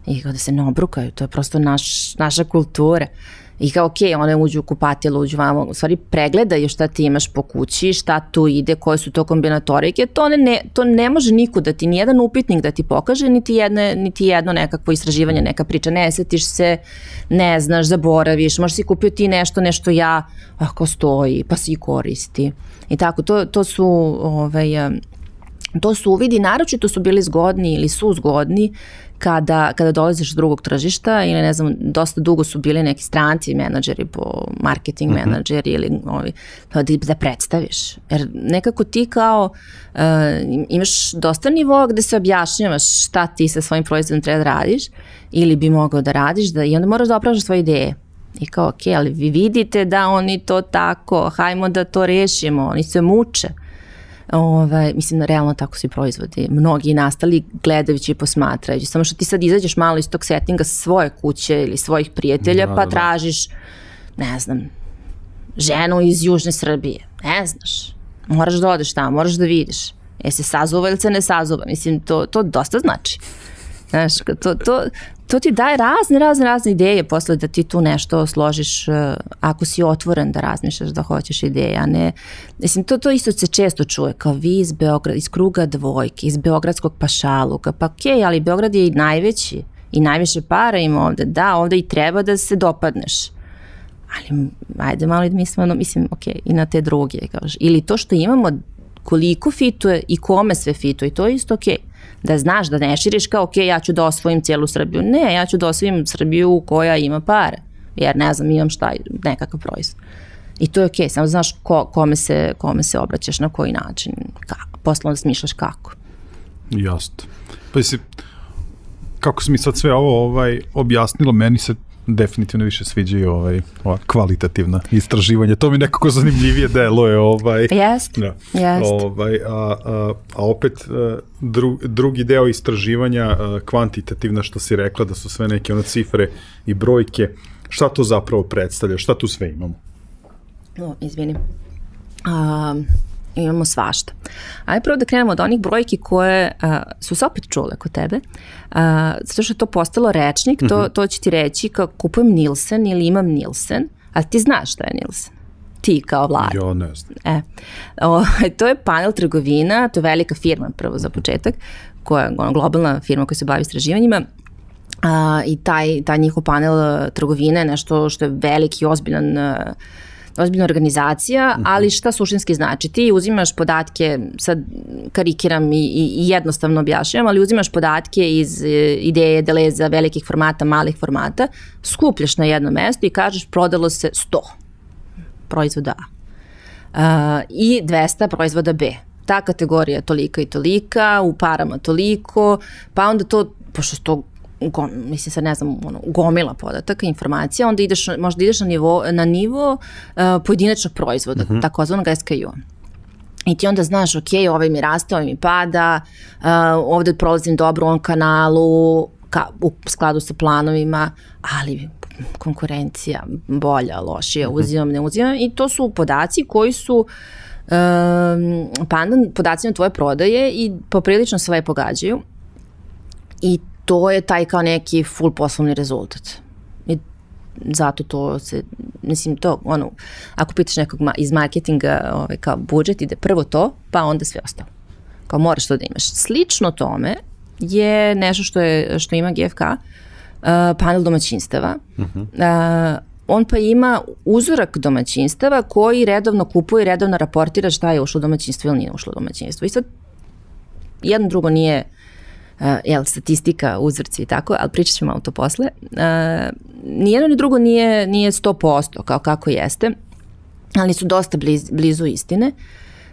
B: i kao da se ne obrukaju, to je prosto naš, naša kultura. I kao, ok, one uđu u kupatilo, uđu vamo, u stvari pregledaju šta ti imaš po kući, šta tu ide, koje su to kombinatorike, to ne, to ne može niko da ti, nijedan upitnik da ti pokaže, niti, jedne, niti jedno nekakvo istraživanje, neka priča, ne setiš se, ne znaš, zaboraviš, možda si kupio ti nešto, nešto ja, ako stoji, pa si koristi. I tako, to, to su, ovaj, to su uvidi, naročito su bili zgodni ili su zgodni kada, kada dolaziš do drugog tržišta ili ne znam, dosta dugo su bili neki stranci menadžeri po marketing uh-huh. menadžeri ili ovi, da, da predstaviš. Jer nekako ti kao uh, imaš dosta nivoa gde se objašnjavaš šta ti sa svojim proizvodom treba da radiš ili bi mogao da radiš da, i onda moraš da opražaš svoje ideje. I kao, ok, ali vi vidite da oni to tako, hajmo da to rešimo, oni se muče. Ove, mislim, realno tako svi proizvodi. Mnogi nastali gledajući i posmatrajući. Samo što ti sad izađeš malo iz tog settinga svoje kuće ili svojih prijatelja, da, pa da. tražiš, ne znam, ženu iz Južne Srbije. Ne znaš. Moraš da odeš tamo, moraš da vidiš. Je se sazuva ili se ne sazuva. Mislim, to, to dosta znači. Znaš, to, to, to ti daje razne, razne, razne ideje posle da ti tu nešto složiš ako si otvoren da razmišljaš da hoćeš ideje, a ne, mislim, to, to isto se često čuje, kao vi iz Beograda, iz kruga dvojke, iz beogradskog pašaluka, pa okej, okay, ali Beograd je i najveći i najviše para ima ovde, da, ovde i treba da se dopadneš, ali ajde malo da mislimo, mislim, okej, okay, i na te druge, kažeš, ili to što imamo, koliko fituje i kome sve fituje, to je isto okej. Okay. Da znaš, da ne širiš kao, ok, ja ću da osvojim cijelu Srbiju. Ne, ja ću da osvojim Srbiju koja ima pare. Jer ne znam, imam šta, nekakav proizvod. I to je ok, samo znaš ko, kome, se, kome se obraćaš, na koji način. Kako, posle onda smišljaš kako.
A: Jasno. Pa si, kako si mi sad sve ovo ovaj, objasnilo, meni se definitivno više sviđaju ovaj, ova kvalitativna istraživanja. To mi nekako zanimljivije deluje. Ovaj,
B: jest,
A: ja.
B: jest.
A: Ovaj, a, a, a opet dru, drugi deo istraživanja, kvantitativna, što si rekla, da su sve neke one cifre i brojke. Šta to zapravo predstavlja? Šta tu sve imamo?
B: No, izvini. Um, imamo svašta. Ajde prvo da krenemo od onih brojki koje uh, su se opet čule kod tebe, uh, zato što je to postalo rečnik, to, to će ti reći kao kupujem Nielsen ili imam Nielsen, a ti znaš šta je Nielsen? Ti kao Vlada.
A: Ja ne znam.
B: E, o, to je panel trgovina, to je velika firma prvo za početak, koja je ono, globalna firma koja se bavi istraživanjima, uh, i taj, taj njihov panel trgovine je nešto što je veliki, ozbiljan uh, ozbiljna organizacija, ali šta suštinski znači? Ti uzimaš podatke, sad karikiram i, i, i jednostavno objašnjam, ali uzimaš podatke iz ideje, deleza, velikih formata, malih formata, skupljaš na jedno mesto i kažeš prodalo se sto proizvoda A uh, i dvesta proizvoda B. Ta kategorija je tolika i tolika, u parama toliko, pa onda to, pošto to Gom, mislim sad ne znam, ono, gomila podataka, informacija, onda ideš, možda ideš na nivo, na nivo uh, pojedinačnog proizvoda, uh-huh. takozvanog S K U. I ti onda znaš, ok, ovaj mi raste, ovaj mi pada, uh, ovde prolazim dobro u ovom kanalu, ka, u skladu sa planovima, ali konkurencija bolja, lošija, uh-huh. uzimam, ne uzimam, i to su podaci koji su um, pandan podacima tvoje prodaje i poprilično sve pogađaju. I to je taj kao neki full poslovni rezultat. I zato to se, mislim to, ono, ako pitaš nekog ma, iz marketinga, ovaj, kao budžet, ide prvo to, pa onda sve ostalo. Kao moraš to da imaš. Slično tome je nešto što, je, što ima G F K, uh, panel domaćinstava. Uh-huh. Uh, on pa ima uzorak domaćinstava koji redovno kupuje, redovno raportira šta je ušlo u domaćinstvo ili nije ušlo u domaćinstvo. I sad jedno drugo nije uh, jel, statistika, uzorci i tako, ali pričat ćemo malo to posle. Uh, nijedno ni drugo nije, nije sto posto kao kako jeste, ali su dosta bliz, blizu istine.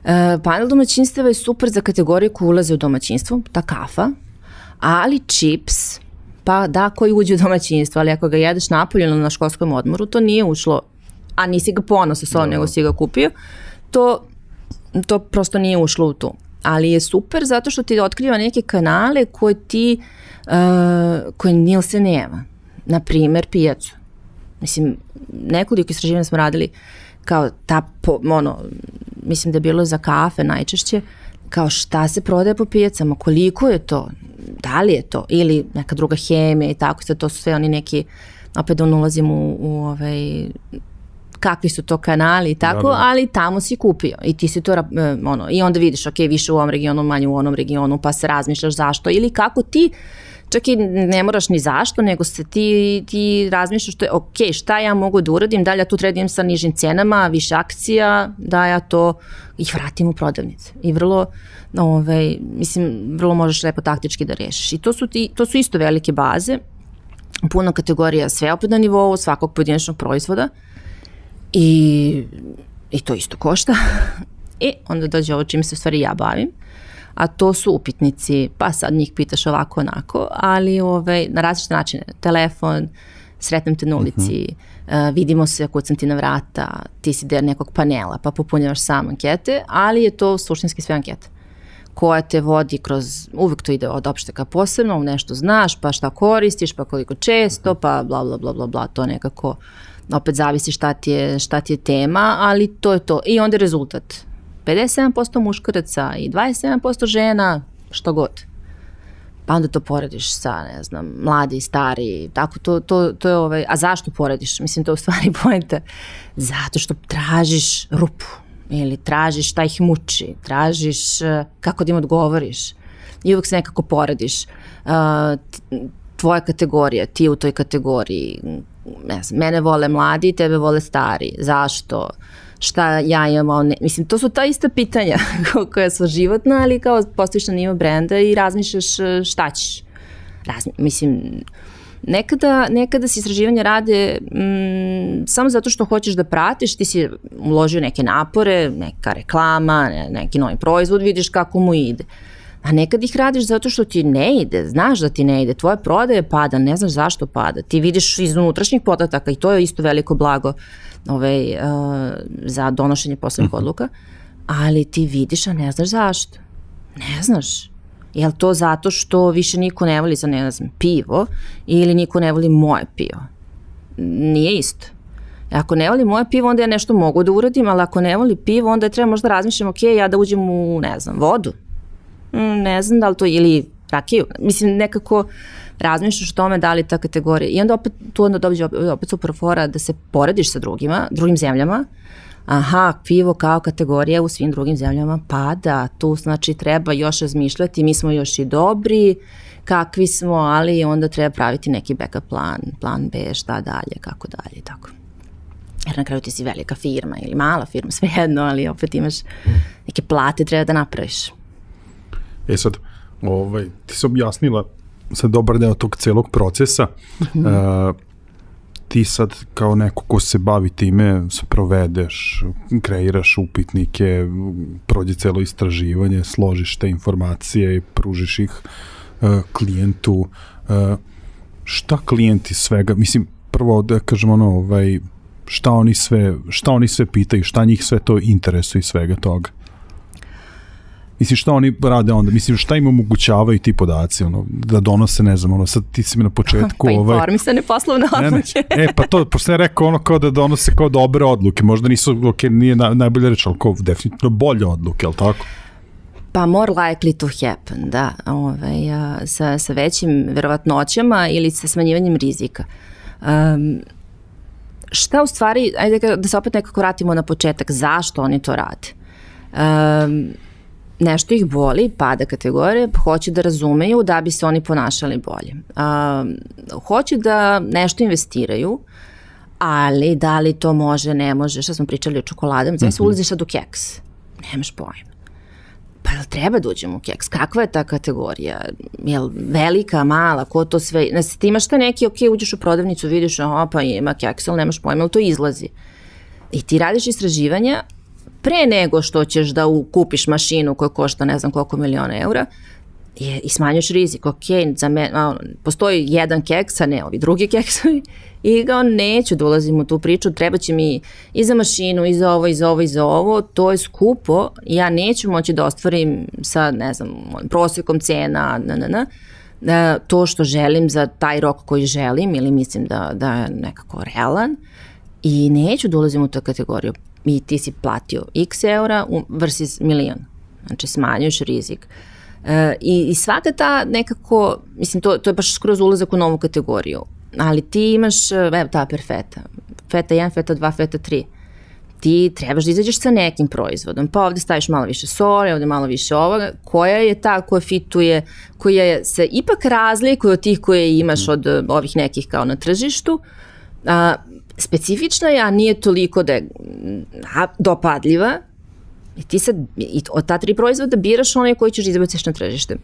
B: Uh, panel domaćinstava je super za kategoriju koje ulaze u domaćinstvo, ta kafa, ali čips, pa da, koji uđe u domaćinstvo, ali ako ga jedeš napolje ili na školskom odmoru, to nije ušlo, a nisi ga ponosa sa ovom, nego si ga kupio, to, to prosto nije ušlo u tu. Ali je super zato što ti otkriva neke kanale koje ti, uh, koje Nielsen nema. Naprimer, pijacu. Mislim, nekoliko istraživanja smo radili kao ta, po, ono, mislim da je bilo za kafe najčešće, kao šta se prodaje po pijacama, koliko je to, da li je to, ili neka druga hemija i tako, sad to su sve oni neki, opet da ulazim u, u ovaj, kakvi su to kanali i tako, da, da. Ali tamo si kupio i ti si to, ono, i onda vidiš, ok, više u ovom regionu, manje u onom regionu, pa se razmišljaš zašto, ili kako ti, čak i ne moraš ni zašto, nego se ti, ti razmišljaš što je, ok, šta ja mogu da uradim, da li ja tu tredim sa nižim cenama, više akcija, da ja to ih vratim u prodavnice. I vrlo, ovaj, mislim, vrlo možeš lepo taktički da rešiš. I to su, ti, to su isto velike baze, puno kategorija, sve opet na nivou svakog pojedinačnog proizvoda i, i to isto košta. I onda dođe ovo čim se u stvari ja bavim, a to su upitnici, pa sad njih pitaš ovako onako, ali ovaj, na različite načine, telefon, sretnem te na ulici, uh-huh. uh, vidimo se, kucam ti na vrata, ti si der nekog panela, pa popunjavaš sam ankete, ali je to suštinski sve ankete koja te vodi kroz, uvek to ide od opšte ka posebno, nešto znaš, pa šta koristiš, pa koliko često, pa bla bla bla bla bla, to nekako opet zavisi šta ti je, šta ti je tema, ali to je to. I onda je rezultat. pedeset sedam posto muškaraca i dvadeset sedam posto žena, što god. Pa onda to porediš sa, ne znam, mladi, stari, tako, to, to, to je ovaj, a zašto porediš? Mislim, to je u stvari poenta. Zato što tražiš rupu, ili tražiš šta ih muči, tražiš kako da im odgovoriš i uvek se nekako porediš. Uh, tvoja kategorija, ti u toj kategoriji, ne znam, mene vole mladi, tebe vole stari, zašto? Šta ja imam, ne, mislim, to su ta ista pitanja koja su životna, ali kao postojiš na nivo brenda i razmišljaš šta ćeš. Razmi, mislim, nekada, nekada se istraživanja rade mm, samo zato što hoćeš da pratiš, ti si uložio neke napore, neka reklama, ne, neki novi proizvod, vidiš kako mu ide. A nekad ih radiš zato što ti ne ide, znaš da ti ne ide, tvoje prodaje pada, ne znaš zašto pada. Ti vidiš iz unutrašnjih podataka i to je isto veliko blago ovaj, uh, za donošenje poslovnih odluka, ali ti vidiš, a ne znaš zašto. Ne znaš. Je li to zato što više niko ne voli za, ne znam, pivo ili niko ne voli moje pivo? Nije isto. Ako ne voli moje pivo, onda ja nešto mogu da uradim, ali ako ne voli pivo, onda je treba možda razmišljam, ok, ja da uđem u, ne znam, vodu. Ne znam da li to, ili rakiju. Mislim, nekako razmišljaš o tome da li ta kategorija. I onda opet, tu onda dođe opet super fora da se porediš sa drugima, drugim zemljama. Aha, pivo kao kategorija u svim drugim zemljama pada. Tu znači treba još razmišljati, mi smo još i dobri, kakvi smo, ali onda treba praviti neki backup plan, plan B, šta dalje, kako dalje i tako. Jer na kraju ti si velika firma ili mala firma, svejedno, ali opet imaš neke plate treba da napraviš.
A: E sad, ovaj, ti si objasnila sad dobar deo tog celog procesa. Mm-hmm. Uh, ti sad kao neko ko se bavi time, se provedeš, kreiraš upitnike, prođe celo istraživanje, složiš te informacije i pružiš ih uh, klijentu. Uh, šta klijenti svega, mislim, prvo da kažem ono, ovaj, šta oni sve, šta oni sve pitaju, šta njih sve to interesuje i svega toga? Mislim, šta oni rade onda? Mislim, šta im omogućavaju ti podaci, ono, da donose, ne znam, ono, sad ti si mi na početku...
B: Pa informisane poslovne odluke.
A: Ne, ne. E, pa to, pošto je rekao ono kao da donose kao dobre odluke, možda nisu, ok, nije na, najbolje reći, ali kao definitivno bolje odluke, je li tako?
B: Pa more likely to happen, da, ovaj, sa, sa većim verovatnoćama ili sa smanjivanjem rizika. Um, šta u stvari, ajde da se opet nekako vratimo na početak, zašto oni to rade? Um, nešto ih boli, pada kategorije, hoće da razumeju da bi se oni ponašali bolje. Um, hoće da nešto investiraju, ali da li to može, ne može, šta smo pričali o čokoladama, znači mm-hmm. ulaziš sad u keks, nemaš pojma. Pa jel treba da uđemo u keks? Kakva je ta kategorija? Jel velika, mala, ko to sve? Znači, ti imaš te neki, ok, uđeš u prodavnicu, vidiš, aha, pa ima keks, ali nemaš pojma, ali to izlazi. I ti radiš istraživanja pre nego što ćeš da kupiš mašinu koja košta ne znam koliko miliona eura i, i smanjuš rizik. Ok, za me, a, postoji jedan keks, a ne ovi drugi keksovi i ga neću da ulazim u tu priču, treba će mi i za mašinu, i za ovo, i za ovo, i za ovo, to je skupo, ja neću moći da ostvarim sa, ne znam, prosjekom cena, na, na, na, to što želim za taj rok koji želim ili mislim da, da je nekako realan i neću da ulazim u tu kategoriju. I ti si platio x eura versus milion. Znači smanjuješ rizik. E, i, I svaka ta nekako, mislim to, to je baš skroz ulazak u novu kategoriju, ali ti imaš, evo ta perfeta, feta jedan, feta dva, feta tri. Ti trebaš da izađeš sa nekim proizvodom, pa ovde staviš malo više soli, ovde malo više ovoga, koja je ta koja fituje, koja se ipak razlikuje od tih koje imaš od ovih nekih kao na tržištu, a, specifična je, a nije toliko da je dopadljiva i ti sad i od ta tri proizvoda biraš one koje ćeš izbaciš na tržište.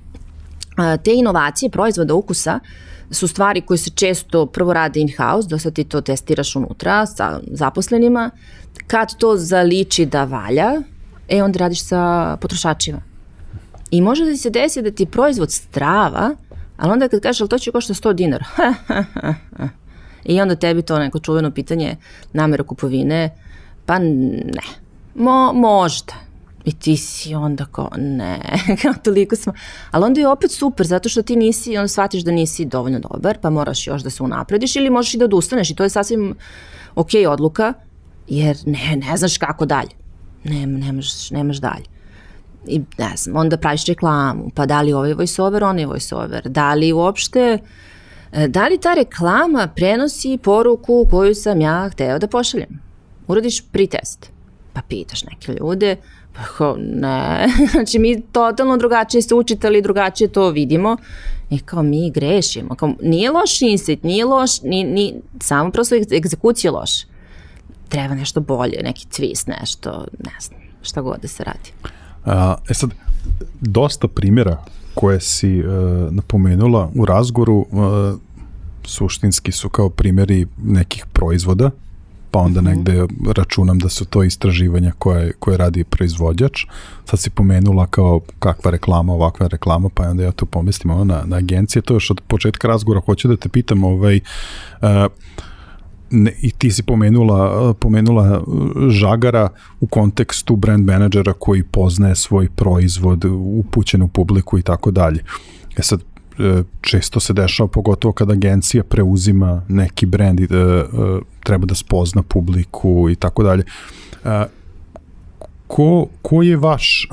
B: Te inovacije proizvoda ukusa su stvari koje se često prvo rade in-house, da sad ti to testiraš unutra sa zaposlenima, kad to zaliči da valja, e onda radiš sa potrošačima. I može da ti se desi da ti proizvod strava, ali onda kad kažeš, ali to će košta sto dinara, i onda tebi to neko čuveno pitanje namera kupovine, pa ne, Mo, možda. I ti si onda kao, ne, toliko smo. Ali onda je opet super, zato što ti nisi, onda shvatiš da nisi dovoljno dobar, pa moraš još da se unaprediš ili možeš i da odustaneš i to je sasvim ok odluka, jer ne, ne znaš kako dalje. Ne, nemaš, nemaš dalje. I ne znam, onda praviš reklamu, pa da li ovaj voiceover, on je voiceover, da li uopšte, da li ta reklama prenosi poruku koju sam ja hteo da pošaljem? Uradiš pretest, pa pitaš neke ljude, pa kao ne, znači mi totalno drugačije se učitali, drugačije to vidimo i kao mi grešimo, kao nije loš insight, nije loš, ni, ni, samo prosto egzekucija loš. Treba nešto bolje, neki twist, nešto, ne znam, šta god da se radi.
A: A, e sad, dosta primjera koje si uh, napomenula u razgovoru uh, suštinski su kao primjeri nekih proizvoda, pa onda mm-hmm. negde računam da su to istraživanja koje, koje radi proizvođač. Sad si pomenula kao kakva reklama, ovakva reklama, pa onda ja to pomislim ono, na, na agencije. To još od početka razgovora hoću da te pitam, ovaj, uh, ne, i ti si pomenula, pomenula Žagara u kontekstu brand menadžera koji poznaje svoj proizvod, upućen u publiku i tako dalje. E sad, često se dešava, pogotovo kad agencija preuzima neki brand i treba da spozna publiku i tako dalje. Ko, ko je vaš,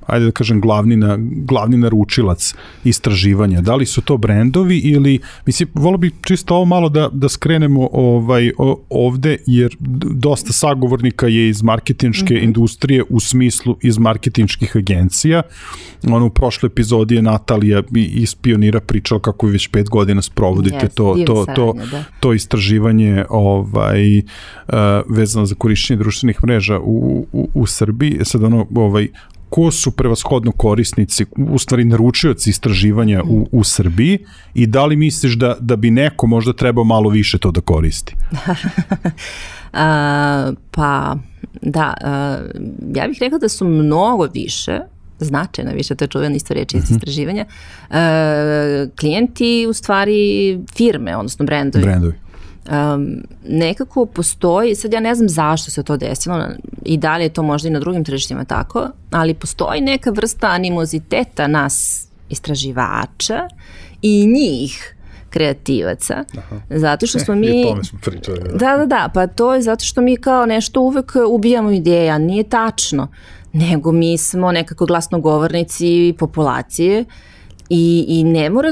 A: ajde da kažem, glavni, na, glavni naručilac istraživanja? Da li su to brendovi ili, mislim, volio bih čisto ovo malo da, da skrenemo ovaj, ovde, jer dosta sagovornika je iz marketinške mm-hmm. industrije u smislu iz marketinških agencija. Ono, u prošloj epizodi je Natalija iz Pionira pričala kako već pet godina sprovodite yes, to, to, to, to istraživanje ovaj, uh, vezano za korišćenje društvenih mreža u, u, u Srbiji. Sad ono, ovaj, ko su prevashodno korisnici, u stvari naručioci istraživanja u, u Srbiji i da li misliš da, da bi neko možda trebao malo više to da koristi?
B: a, pa, da, a, ja bih rekla da su mnogo više, značajno više, to je čuvena isto reči iz istraživanja, a, klijenti u stvari firme, odnosno brendovi.
A: Brendovi.
B: Um, nekako postoji, sad ja ne znam zašto se to desilo i da li je to možda i na drugim tržištima tako, ali postoji neka vrsta animoziteta nas istraživača i njih kreativaca. Aha. Zato što smo mi...
A: I tome smo pričali.
B: Da, da, da, pa to je zato što mi kao nešto uvek ubijamo ideja, nije tačno, nego mi smo nekako glasnogovornici populacije. I, i ne mora,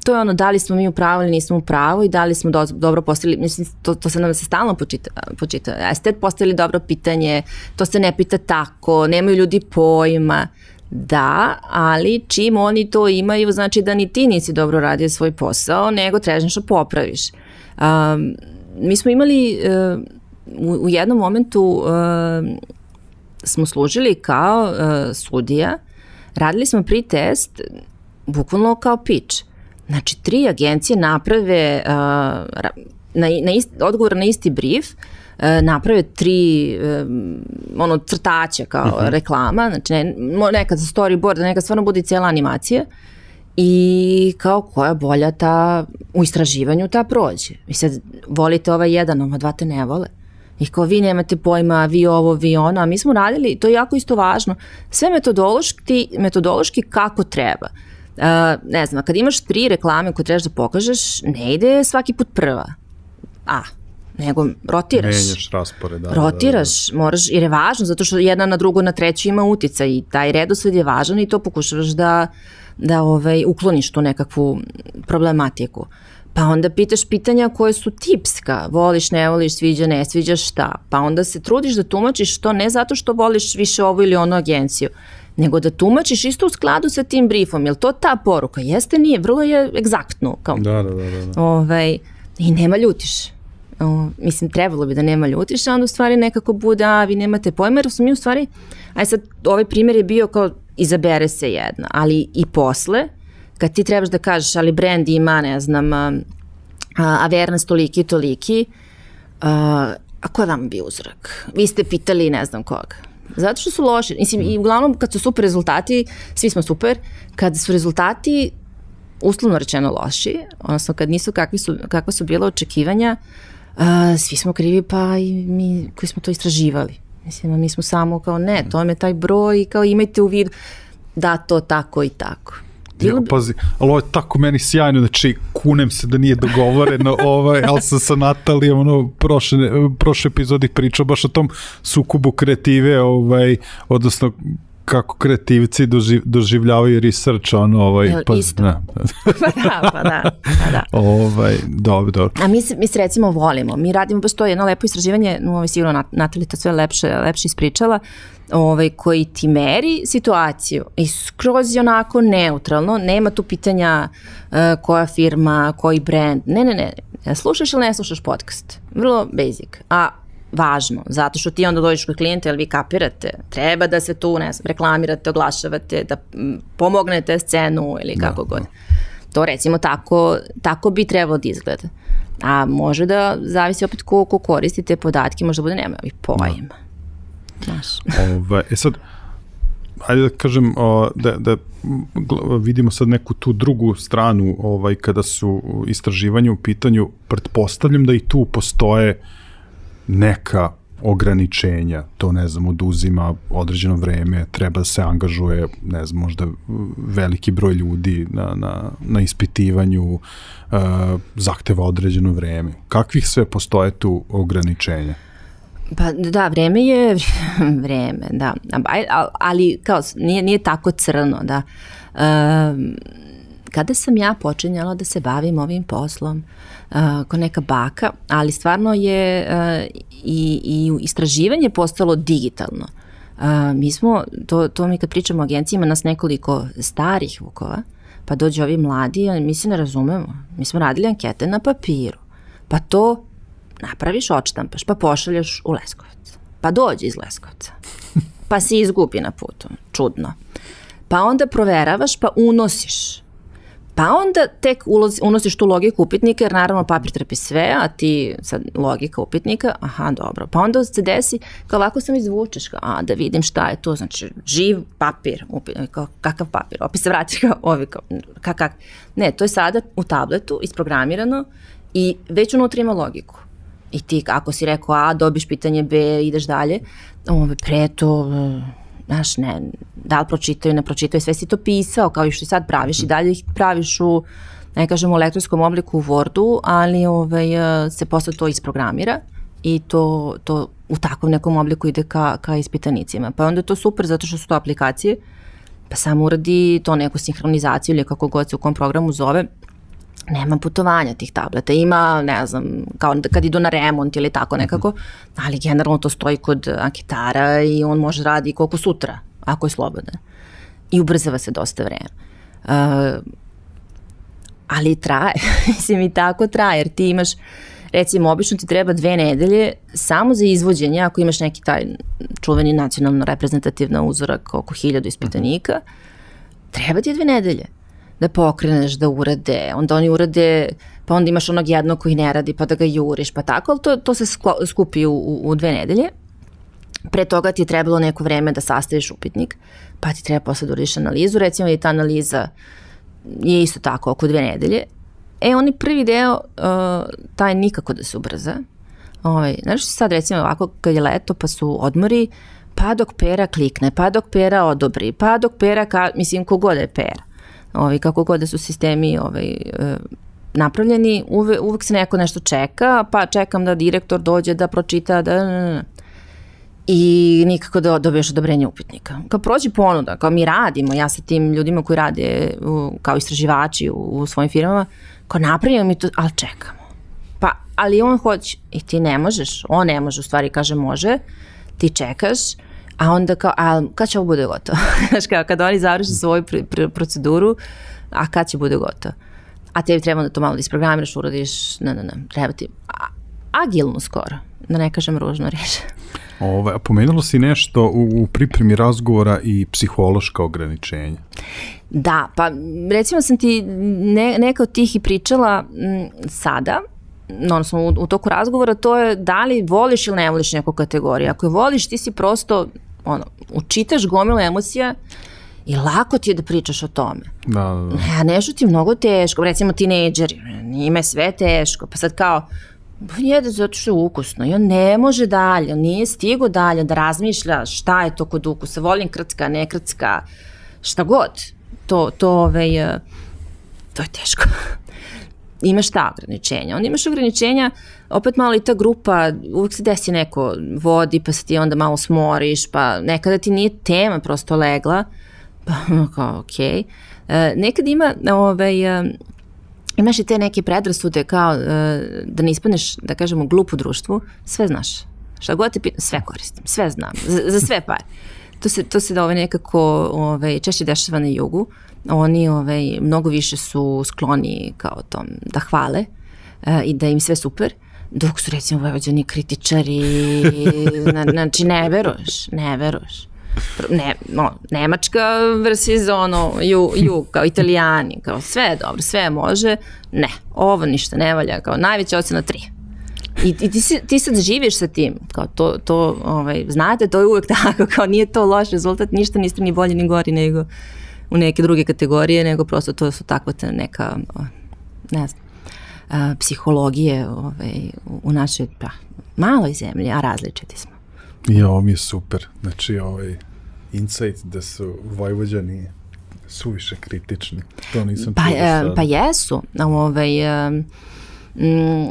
B: to je ono da li smo mi u pravu ili nismo u pravu i da li smo do, dobro postavili, mislim to, to se nam se stalno počita, počita. Jeste postavili dobro pitanje, to se ne pita tako, nemaju ljudi pojma, da, ali čim oni to imaju, znači da ni ti nisi dobro radio svoj posao, nego trebaš nešto popraviš. Um, mi smo imali uh, u, u jednom momentu uh, smo služili kao uh, sudija, radili smo pre-test bukvalno kao pitch. Znači, tri agencije naprave uh, na, na isti, odgovor na isti brief, uh, naprave tri um, ono, crtaća kao uh-huh. reklama, znači ne, nekad za storyboard, nekad stvarno bude cijela animacija i kao koja bolja ta u istraživanju ta prođe. I sad volite ovaj jedan, ova dva te ne vole. I kao vi nemate pojma, vi ovo, vi ono, a mi smo radili, to je jako isto važno, sve metodološki, metodološki kako treba. Uh, ne znam, kad imaš tri reklame koje trebaš da pokažeš, ne ide svaki put prva. A, nego rotiraš.
A: Menjaš raspored. Da,
B: rotiraš,
A: da, da.
B: moraš, jer je važno, zato što jedna na drugu, na treću ima uticaj i taj redosled je važan i to pokušavaš da, da ovaj, ukloniš tu nekakvu problematiku. Pa onda pitaš pitanja koje su tipska, voliš, ne voliš, sviđa, ne sviđa, šta. Pa onda se trudiš da tumačiš to ne zato što voliš više ovu ili onu agenciju, nego da tumačiš isto u skladu sa tim briefom. Jel to ta poruka? Jeste, nije, vrlo je egzaktno. Kao,
A: da, da, da. da.
B: Ovaj, i nema ljutiš. O, mislim, trebalo bi da nema ljutiš, a onda u stvari nekako bude, a vi nemate pojma, jer su mi u stvari, aj sad, ovaj primjer je bio kao izabere se jedna, ali i posle, kad ti trebaš da kažeš, ali brand ima, ne znam, a, awareness toliki i toliki, a, a ko je vam bio uzrak? Vi ste pitali ne znam koga. Zato što su loši. Mislim, i uglavnom kad su super rezultati, svi smo super, kad su rezultati uslovno rečeno loši, odnosno kad nisu kakvi su, kakva su bila očekivanja, uh, svi smo krivi, pa i mi koji smo to istraživali. Mislim, mi smo samo kao ne, to je taj broj, kao imajte u vidu da to tako i tako.
A: Ja, pazi, ali ovo je tako meni sjajno, znači kunem se da nije dogovoreno, ovaj, ali sam sa Natalijom ono, prošle, prošle epizodi pričao baš o tom sukobu kreative, ovaj, odnosno kako kreativci doživ, doživljavaju research, ono, ovaj,
B: Jel,
A: pa,
B: isto.
A: Ne.
B: pa da, pa da, pa da.
A: Ovaj, dobro, dobro.
B: A mi se, mi se recimo volimo, mi radimo baš to jedno lepo istraživanje, no, ovaj, sigurno Natalija to sve lepše, lepše ispričala, ovaj, koji ti meri situaciju i skroz je onako neutralno, nema tu pitanja uh, koja firma, koji brand, ne, ne, ne, slušaš ili ne slušaš podcast, vrlo basic, a važno, zato što ti onda dođeš kod klijenta, jer vi kapirate, treba da se tu, ne znam, reklamirate, oglašavate, da pomognete scenu ili kako god. To recimo tako, tako bi trebalo da izgleda. A može da zavisi opet ko, ko koristi te podatke, možda bude nema ovih pojma. Znaš.
A: Ove, e sad, ajde da kažem, o, da, da vidimo sad neku tu drugu stranu, ovaj, kada su istraživanje u pitanju, pretpostavljam da i tu postoje neka ograničenja, to ne znam, oduzima određeno vreme, treba da se angažuje, ne znam, možda veliki broj ljudi na, na, na ispitivanju, uh, zahteva određeno vreme. Kakvih sve postoje tu ograničenja?
B: Pa da, vreme je vreme, da, ali kao nije, nije tako crno, da. Um, kada sam ja počinjala da se bavim ovim poslom, uh, ko neka baka, ali stvarno je uh, i, i istraživanje postalo digitalno. Uh, mi smo, to, to mi kad pričamo o agenciji, ima nas nekoliko starih vukova, pa dođu ovi mladi, a mi se ne razumemo. Mi smo radili ankete na papiru, pa to napraviš, odštampaš, pa pošalješ u Leskovac. Pa dođe iz Leskovca. Pa se izgubi na putu. Čudno. Pa onda proveravaš, pa unosiš. Pa onda tek ulozi, unosiš tu logiku upitnika, jer naravno papir trpi sve, a ti sad logika upitnika, aha, dobro. Pa onda se desi, kao ovako sam izvučeš, kao, a da vidim šta je to, znači živ papir, upitnik, kao, kakav papir, opet se vrati kao ovi, kao, kak, kak. Ne, to je sada u tabletu isprogramirano i već unutra ima logiku. I ti, ako si rekao A, dobiš pitanje B, ideš dalje, ove, pre to, znaš, ne, da li pročitaju, ne pročitaju, sve si to pisao, kao i što sad praviš i dalje ih praviš u, ne kažem, u elektronskom obliku u Wordu, ali ove, se posle to isprogramira i to, to u takvom nekom obliku ide ka, ka ispitanicima. Pa onda je to super zato što su to aplikacije, pa samo uradi to neku sinhronizaciju ili kako god se u kom programu zove. Nema putovanja tih tableta, ima, ne znam, kao kad idu na remont ili tako nekako, ali generalno to stoji kod anketara i on može radi koliko sutra, ako je slobodan. I ubrzava se dosta vreme. Uh, ali traje, mislim i tako traje, jer ti imaš, recimo, obično ti treba dve nedelje samo za izvođenje, ako imaš neki taj čuveni nacionalno reprezentativna uzorak oko hiljadu ispitanika, treba ti dve nedelje da pokreneš, da urade, onda oni urade, pa onda imaš onog jednog koji ne radi, pa da ga juriš, pa tako, ali to, to se skupi u, u, u dve nedelje. Pre toga ti je trebalo neko vreme da sastaviš upitnik, pa ti treba posle da uradiš analizu, recimo i ta analiza je isto tako, oko dve nedelje. E, oni prvi deo, uh, taj nikako da se ubrza. Ovaj, znaš sad recimo ovako, kad je leto, pa su odmori, pa dok Pera klikne, pa dok Pera odobri, pa dok Pera, ka, mislim, kogod je Pera. Ovaj, kako god da su sistemi ovaj, uh, napravljeni, uve, uvek se neko nešto čeka, pa čekam da direktor dođe da pročita, da... I nikako da dobiješ odobrenje upitnika. Kao prođi ponuda, kao mi radimo, ja sa tim ljudima koji rade u, kao istraživači u, u svojim firmama, kao napravimo mi to, ali čekamo. Pa, ali on hoće, i ti ne možeš, on ne može, u stvari kaže može, ti čekaš, a onda kao, a kad će ovo bude gotovo? Znaš kao, kad oni završi svoju pr pr proceduru, a kad će bude gotovo? A tebi treba da to malo da isprogramiraš, uradiš, ne, ne, ne, treba ti, a, agilno skoro, da ne kažem ružno reč.
A: Ove, a pomenulo si nešto u, u pripremi razgovora i psihološka ograničenja.
B: Da, pa recimo sam ti ne, neka od tih i pričala m, sada, odnosno u, u toku razgovora, to je da li voliš ili ne voliš neku kategoriju. Ako je voliš, ti si prosto, ono, učitaš gomilu emocija i lako ti je da pričaš o tome.
A: Da, da, da.
B: Ja, nešto ti je mnogo teško, recimo tinejdžeri, njima je sve teško, pa sad kao, jede zato što je ukusno i on ne može dalje, on nije stigo dalje da razmišlja šta je to kod ukusa, volim krcka, ne krcka, šta god, to, to, ovaj, to je teško. Imaš ta ograničenja, onda imaš ograničenja, opet malo i ta grupa, uvijek se desi neko vodi, pa se ti onda malo smoriš, pa nekada ti nije tema prosto legla, pa kao okej. Okay. Uh, nekad ima, ovaj, uh, imaš i te neke predrasude kao uh, da ne ispadneš, da kažemo, glup u društvu, sve znaš. Šta god te pitam, sve koristim, sve znam, za, za sve pare. To se, to se da ovaj nekako ovaj, češće dešava na jugu. Oni ovaj, mnogo više su skloni kao tom da hvale uh, i da im sve super. Dok su recimo Vojvođani kritičari, znači ne veruješ, ne veruješ. Ne, no, Nemačka versus ono, ju, ju, kao Italijani, kao sve je dobro, sve može, ne, ovo ništa ne valja, kao najveća ocena tri. I, i ti, si, ti sad živiš sa tim, kao to, to ovaj, znate, to je uvek tako, kao nije to loš rezultat, ništa niste ni bolji ni gori nego u neke druge kategorije, nego prosto to su takva neka, ne znam, a, psihologije ovaj, u našoj pa, maloj zemlji, a različiti smo.
A: I ovo mi je super. Znači, ovaj insight da su Vojvođani suviše kritični. To nisam
B: pa,
A: čuo sad.
B: Pa jesu. Ovaj,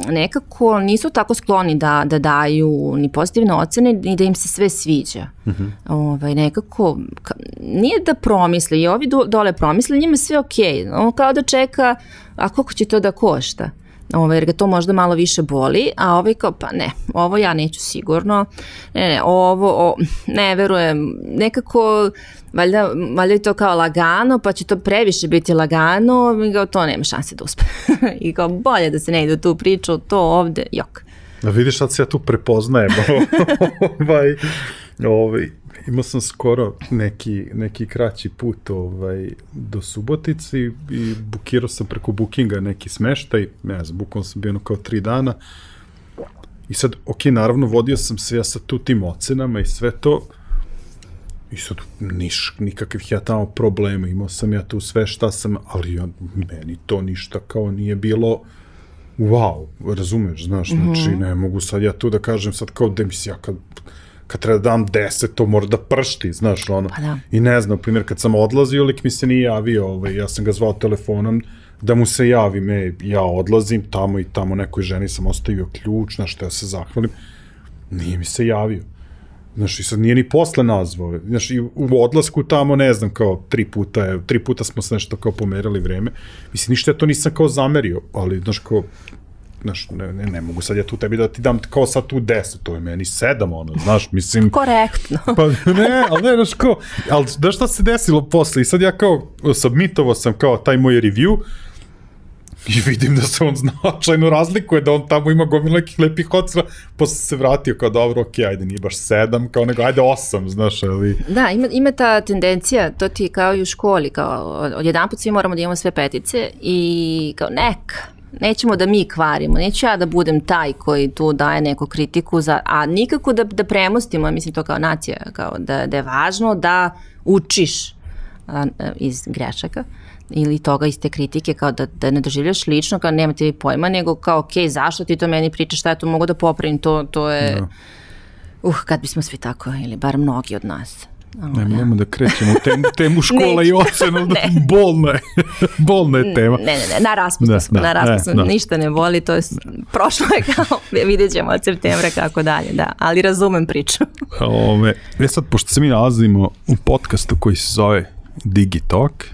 B: nekako nisu tako skloni da, da daju ni pozitivne ocene, ni da im se sve sviđa. Uh-huh. ovaj, nekako, ka, nije da promisle, i ovi dole promisle, njima sve okej. Okay. Kao da čeka, a koliko će to da košta? Ovo, jer ga to možda malo više boli, a ovaj kao, pa ne, ovo ja neću sigurno, ne, ne, ovo, o, ne verujem, nekako, valjda, valjda je to kao lagano, pa će to previše biti lagano, i kao, to nema šanse da uspe. I kao, bolje da se ne ide u tu priču, to ovde, jok.
A: Da vidiš, sad se ja tu prepoznajem, ovaj, ovaj, imao sam skoro neki, neki kraći put ovaj, do Subotice i, i bukirao sam preko Bookinga neki smeštaj, ne znam, bukvalno sam bio kao tri dana i sad, ok, naravno, vodio sam se ja sa tu tim ocenama i sve to i sad niš, nikakvih ja tamo problema, imao sam ja tu sve šta sam, ali ja, meni to ništa kao nije bilo wow, razumeš, znaš, mm-hmm. znači ne mogu sad ja tu da kažem sad kao da mi se ja kad kad treba da dam deset, to mora da pršti, znaš, ono.
B: Pa da.
A: I ne znam, primjer, kad sam odlazio, lik mi se nije javio, ovaj, ja sam ga zvao telefonom da mu se javim, e, ja odlazim tamo i tamo nekoj ženi sam ostavio ključ, znaš, što ja se zahvalim, nije mi se javio. Znaš, i sad nije ni posle nazvao, znaš, i u odlasku tamo, ne znam, kao tri puta, je, tri puta smo se nešto kao pomerali vreme, mislim, ništa ja to nisam kao zamerio, ali, znaš, kao, znaš, ne, ne, ne mogu sad ja tu tebi da ti dam kao sad tu deset, to je meni sedam, ono, znaš, mislim...
B: Korektno.
A: Pa ne, ali ne, znaš, kao, ali znaš šta se desilo posle i sad ja kao submitovao sam kao taj moj review I vidim da se on značajno razlikuje, da on tamo ima gomilu nekih lepih ocena, posle se vratio kao dobro, ok, ajde, nije baš sedam, kao nego, ajde osam, znaš, ali...
B: Da, ima, ima ta tendencija, to ti kao i u školi, kao od jedan put svi moramo da imamo sve petice i kao neka, nećemo da mi kvarimo, neću ja da budem taj koji tu daje neku kritiku, za, a nikako da, da premostimo, mislim to kao nacija, kao da, da je važno da učiš a, iz grešaka ili toga iz te kritike, kao da, da ne doživljaš lično, kao nema ti pojma, nego kao ok, zašto ti to meni pričaš, šta ja to mogu da popravim, to, to je, no. uh, kad bismo svi tako, ili bar mnogi od nas.
A: Ne, nemamo da krećemo temu, temu škola i ocenu, da bolna je, bolna je tema.
B: Ne, ne, ne, na raspustu smo, na raspustu ne, ništa ne boli, to je, prošlo je kao, vidjet ćemo od septembra kako dalje, da, ali razumem priču.
A: Ove, ja sad, pošto se mi nalazimo u podcastu koji se zove Digitalk,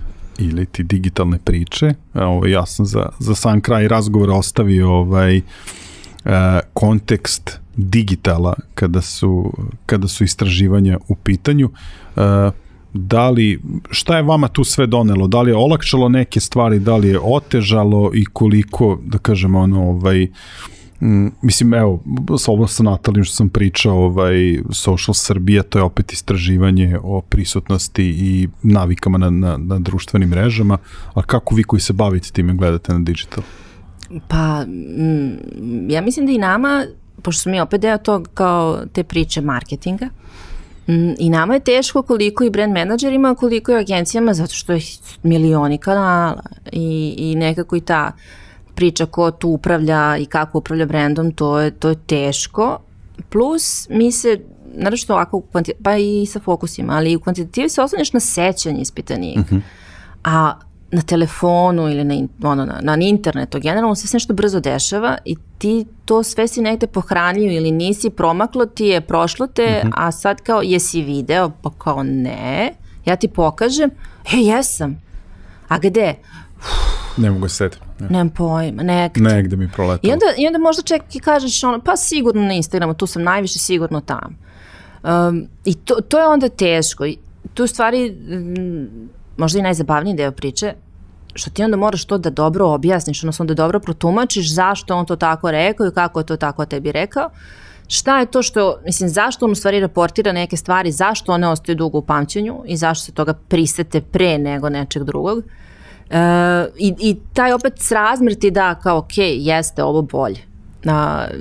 A: ili ti digitalne priče, ovaj, ja sam za, za sam kraj razgovora ostavio ovaj, uh, kontekst digitala kada su, kada su istraživanja u pitanju. Uh, da li, šta je vama tu sve donelo? Da li je olakšalo neke stvari, da li je otežalo i koliko, da kažemo, ono, ovaj, Mm, mislim, evo, ovo sa Natalijom što sam pričao, ovaj, Social Srbija, to je opet istraživanje o prisutnosti i navikama na, na, na društvenim mrežama, a kako vi koji se bavite time gledate na digital?
B: Pa, mm, ja mislim da i nama, pošto smo mi opet deo tog kao te priče marketinga, mm, i nama je teško koliko i brand menadžerima, koliko i agencijama, zato što je milioni kanala i, i nekako i ta priča ko tu upravlja i kako upravlja brandom, to je, to je teško. Plus, mi se, naravno ovako, pa i sa fokusima, ali u kvantitativi se oslanjaš na sećanje ispitanika. Uh-huh. A na telefonu ili na, ono, na, na internetu, generalno se sve nešto brzo dešava i ti to sve si negde pohranio ili nisi, promaklo ti je, prošlo te, uh-huh. a sad kao, jesi video? Pa kao ne, ja ti pokažem, e, jesam. A gde?
A: Ne mogu se setiti.
B: Ne. Nemam pojma, negde.
A: Negde mi proletalo.
B: I onda, i onda možda ček i kažeš ono, pa sigurno na Instagramu, tu sam najviše sigurno tamo. Um, I to, to je onda teško. I tu stvari, m, možda i najzabavniji deo priče, što ti onda moraš to da dobro objasniš, odnosno da dobro protumačiš zašto on to tako rekao i kako je to tako tebi rekao. Šta je to što, mislim, zašto on u stvari raportira neke stvari, zašto one ostaju dugo u pamćenju i zašto se toga prisete pre nego nečeg drugog. Uh, i, i taj opet srazmer ti da kao ok, jeste ovo bolje. Uh,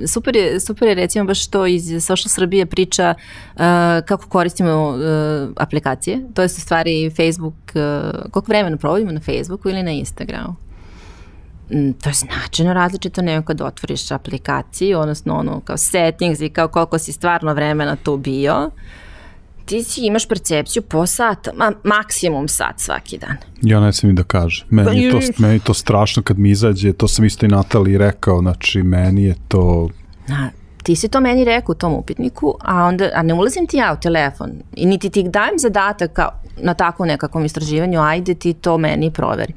B: super, je, super je recimo baš to iz Social Srbije priča uh, kako koristimo uh, aplikacije, to je u stvari Facebook, uh, koliko vremena provodimo na Facebooku ili na Instagramu. Mm, to je značajno različito nego kad otvoriš aplikaciju, odnosno ono kao settings i kao koliko si stvarno vremena tu bio. Ti si imaš percepciju po sata, ma, maksimum sat svaki dan.
A: Ja ne sam i da kažem. Meni je to, meni je to strašno kad mi izađe, to sam isto i Nataliji rekao, znači meni je to...
B: A, ti si to meni rekao u tom upitniku, a, onda, a ne ulazim ti ja u telefon i niti ti dajem zadatak kao na takvom nekakvom istraživanju, ajde ti to meni proveri.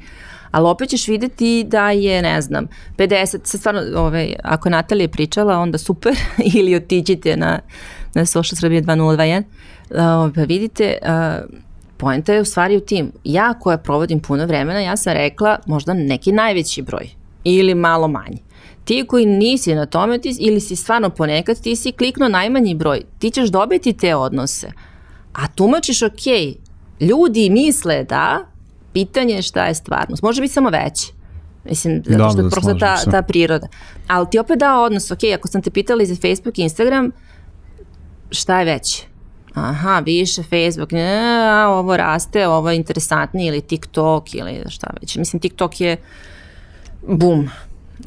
B: Ali opet ćeš videti da je, ne znam, pedeset, sad stvarno, ovaj, ako je Natalija pričala, onda super, ili otiđite na, na Social Srbije dva nula dva jedan, uh, pa vidite, uh, poenta je u stvari u tim. Ja koja provodim puno vremena, ja sam rekla možda neki najveći broj, ili malo manji. Ti koji nisi na tome, ti, ili si stvarno ponekad, ti si kliknuo najmanji broj, ti ćeš dobiti te odnose. A tumačiš, ok, ljudi misle da, pitanje je šta je stvarnost. Može biti samo veći. Mislim, zato što je prosto ta, ta priroda. Ali ti opet da odnos, ok, ako sam te pitala za Facebook i Instagram, šta je veći? Aha, više Facebook, ne, ovo raste, ovo je interesantnije, ili TikTok, ili šta već. Mislim, TikTok je bum,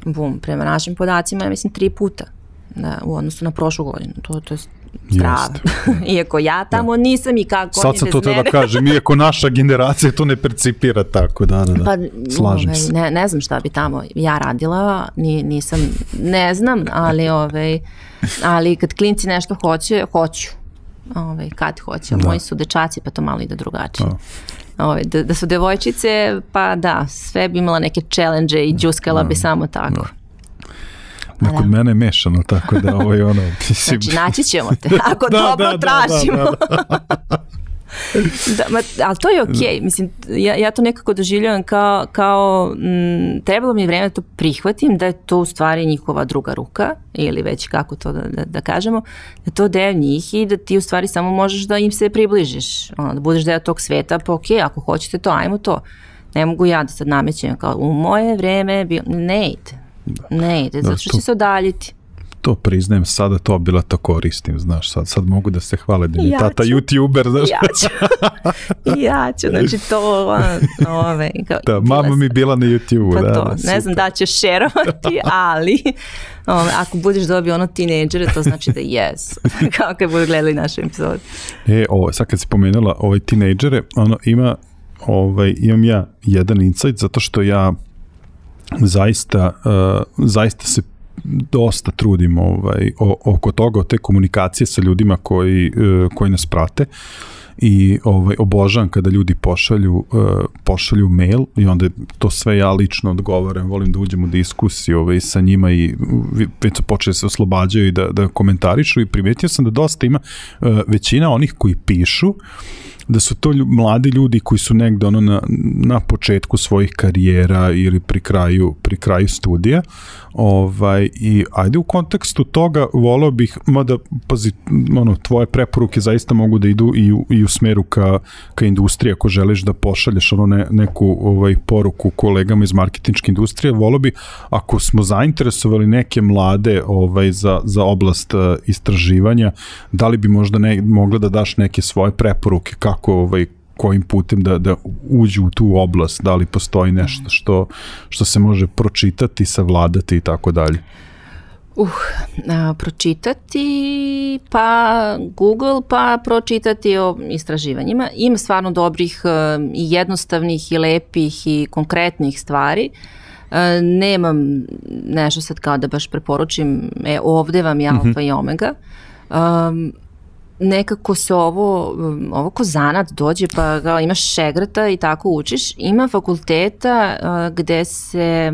B: bum, prema našim podacima, ja mislim, tri puta da, u odnosu na prošlu godinu. To, to je strava. Iako ja tamo da. Nisam i kako
A: sad sam to treba da kažem, iako naša generacija to ne percipira tako, da, da, da.
B: Pa,
A: slažem
B: ove,
A: se.
B: Ne, ne znam šta bi tamo ja radila, ni, nisam, ne znam, ali, ove, ali kad klinci nešto hoće, hoću. Ove, kad hoće, da. Moji su dečaci, pa to malo ide drugačije. Da. Ove, da, da su devojčice, pa da, sve bi imala neke challenge i džuskala da. Bi samo tako. Da.
A: Da, kod mene je mešano, tako da ovo je ono... Mislim...
B: Znači, naći ćemo te, ako da, dobro da, tražimo.
A: Da, da, da.
B: da, ma, ali to je okej, okay. Mislim, ja, ja to nekako doživljavam kao, kao m, trebalo mi je vreme da to prihvatim, da je to u stvari njihova druga ruka, ili već kako to da, da, da kažemo, da to deo njih i da ti u stvari samo možeš da im se približiš, ono, da budeš deo tog sveta, pa okej, okay, ako hoćete to, ajmo to. Ne mogu ja da sad namećem kao u moje vreme, bil... ne ide, ne ide, zato što će se odaljiti.
A: To priznajem, sada to bila to koristim, znaš, sad, sad mogu da se hvale da mi
B: ja
A: tata
B: ću,
A: YouTuber, znaš.
B: Ja ću, ja ću, znači to, ove, kao,
A: da, mama mi bila na YouTube.
B: Pa
A: da,
B: to,
A: da,
B: ne
A: super.
B: znam da ćeš šerovati, ali ove, ako budeš dobio ono tinejdžere, to znači da yes, kako je budu gledali našu epizodu.
A: E, ovo, sad kad si pomenula ovaj tinejdžere, ono, ima, ovaj, imam ja jedan insight, zato što ja zaista, uh, zaista se dosta trudim ovaj, o, oko toga, o te komunikacije sa ljudima koji, uh, koji nas prate i ovaj, obožavam kada ljudi pošalju, uh, pošalju mail i onda to sve ja lično odgovaram, volim da uđem u diskusiju ovaj, sa njima i već su počeli se oslobađaju i da, da komentarišu i primetio sam da dosta ima uh, većina onih koji pišu da su to lju, mladi ljudi koji su negde ono na, na početku svojih karijera ili pri kraju, pri kraju studija. Ovaj, i ajde u kontekstu toga voleo bih, mada pazi, ono, tvoje preporuke zaista mogu da idu i u, i u smeru ka, ka industriji, ako želiš da pošalješ ono ne, neku ovaj, poruku kolegama iz marketinške industrije, voleo bih ako smo zainteresovali neke mlade ovaj, za, za oblast uh, istraživanja, da li bi možda ne, mogla da daš neke svoje preporuke kako ovaj, kojim putem da, da uđu u tu oblast, da li postoji nešto što, što se može pročitati, savladati i tako dalje?
B: Uh, a, pročitati, pa Google, pa pročitati o istraživanjima. Ima stvarno dobrih i jednostavnih i lepih i konkretnih stvari. A, nemam nešto sad kao da baš preporučim, e, ovde vam je alfa mm-hmm. i omega. Um, nekako se ovo, ovo ko zanat dođe pa kao imaš šegrta i tako učiš. Ima fakulteta uh, gde se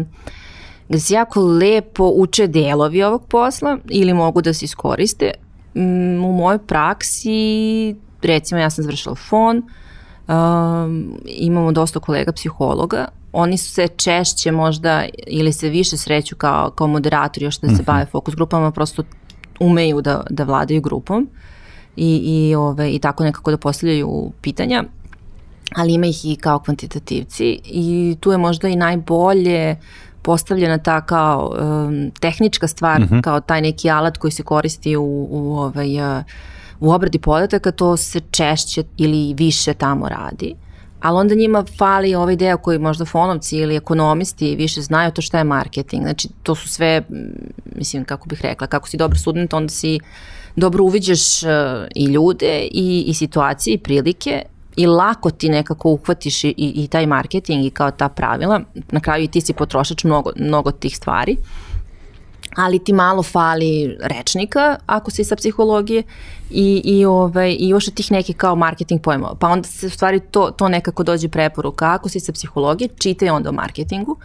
B: gde se jako lepo uče delovi ovog posla ili mogu da se iskoriste. Um, u mojoj praksi, recimo ja sam završila F O N, um, imamo dosta kolega psihologa, oni su se češće možda ili se više sreću kao, kao moderatori još da se mm-hmm. bave fokus grupama, prosto umeju da, da vladaju grupom. I, i, ove, i tako nekako da postavljaju pitanja, ali ima ih i kao kvantitativci i tu je možda i najbolje postavljena ta kao um, tehnička stvar, mm-hmm. kao taj neki alat koji se koristi u, u, ovaj, uh, u obradi podataka, to se češće ili više tamo radi. Ali onda njima fali ovaj deo koji možda fonovci ili ekonomisti više znaju to šta je marketing. Znači to su sve, mislim kako bih rekla, kako si dobar student, onda si dobro uviđaš uh, i ljude i, i situacije i prilike i lako ti nekako uhvatiš i, i taj marketing i kao ta pravila. Na kraju i ti si potrošač mnogo, mnogo tih stvari, ali ti malo fali rečnika ako si sa psihologije i, i, ovaj, i još od tih nekih kao marketing pojmova. Pa onda se u stvari to, to nekako dođe preporuka. Ako si sa psihologije, čitaj onda o marketingu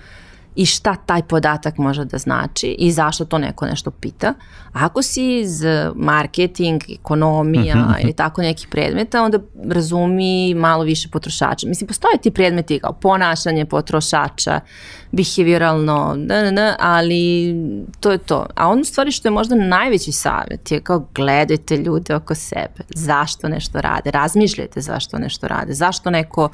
B: i šta taj podatak može da znači i zašto to neko nešto pita. Ako si iz marketing, ekonomija uh-huh. ili tako nekih predmeta, onda razumi malo više potrošača. Mislim, postoje ti predmeti kao ponašanje potrošača, behavioralno, da, da, da, ali to je to. A ono stvari što je možda najveći savjet je kao gledajte ljude oko sebe. Zašto nešto rade? Razmišljajte zašto nešto rade. Zašto neko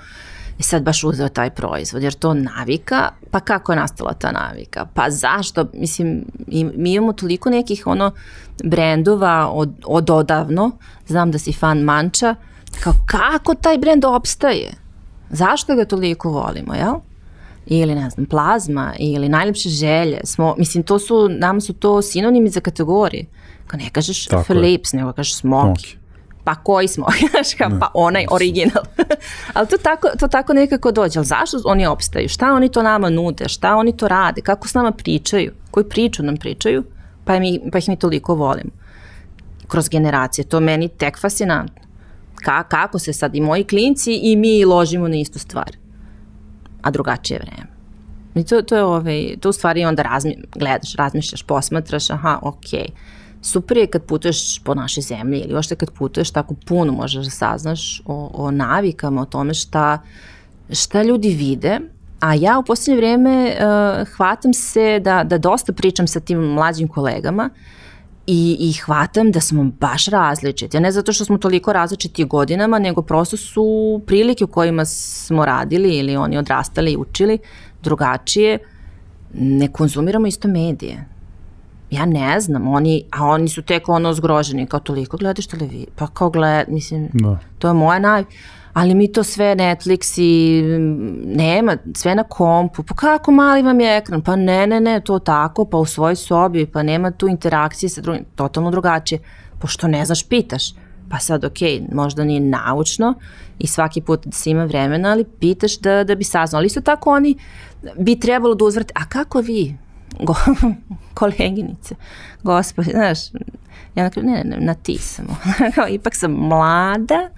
B: i sad baš uzeo taj proizvod, jer to navika, pa kako je nastala ta navika? Pa zašto? Mislim, mi imamo toliko nekih ono brendova od, od odavno, znam da si fan Manča, kao kako taj brend opstaje? Zašto ga toliko volimo, jel? Ili ne znam, plazma, ili najlepše želje, smo, mislim, to su, nam su to sinonimi za kategorije. Kao ne kažeš Philips, nego kažeš Smoky. Pa koji smo, pa onaj original. Ali to tako, to tako nekako dođe. Ali zašto oni opstaju? Šta oni to nama nude? Šta oni to rade? Kako s nama pričaju? Koju priču nam pričaju? Pa, mi, pa ih mi toliko volimo. Kroz generacije. To meni tek fascinantno. Ka, kako se sad i moji klinci i mi ložimo na istu stvar. A drugačije vreme. I to, to je ovaj, to u stvari onda razmi, gledaš, razmišljaš, posmatraš, aha, okej. Okay. super je kad putuješ po našoj zemlji ili uopšte kad putuješ, tako puno možeš da saznaš o, o navikama, o tome šta, šta ljudi vide. A ja u posljednje vrijeme uh, hvatam se da, da dosta pričam sa tim mlađim kolegama i, i hvatam da smo baš različiti. Ne zato što smo toliko različiti godinama, nego prosto su prilike u kojima smo radili ili oni odrastali i učili drugačije. Ne konzumiramo isto medije. Ja ne znam, oni, a oni su tek ono zgroženi, kao toliko gledaš televiziju, pa kao gled, mislim, no. To je moja naj... Ali mi to sve Netflix i nema, sve na kompu, pa kako mali vam je ekran, pa ne, ne, ne, to tako, pa u svojoj sobi, pa nema tu interakcije sa drugim, totalno drugačije, pošto ne znaš, pitaš, pa sad ok, možda nije naučno i svaki put da si ima vremena, ali pitaš da, da bi saznao, ali isto tako oni bi trebalo da uzvrte, a kako vi, Go, koleginice, gospodи, znaš, ja ne, ne, ne, na ti sam, ipak sam mlada,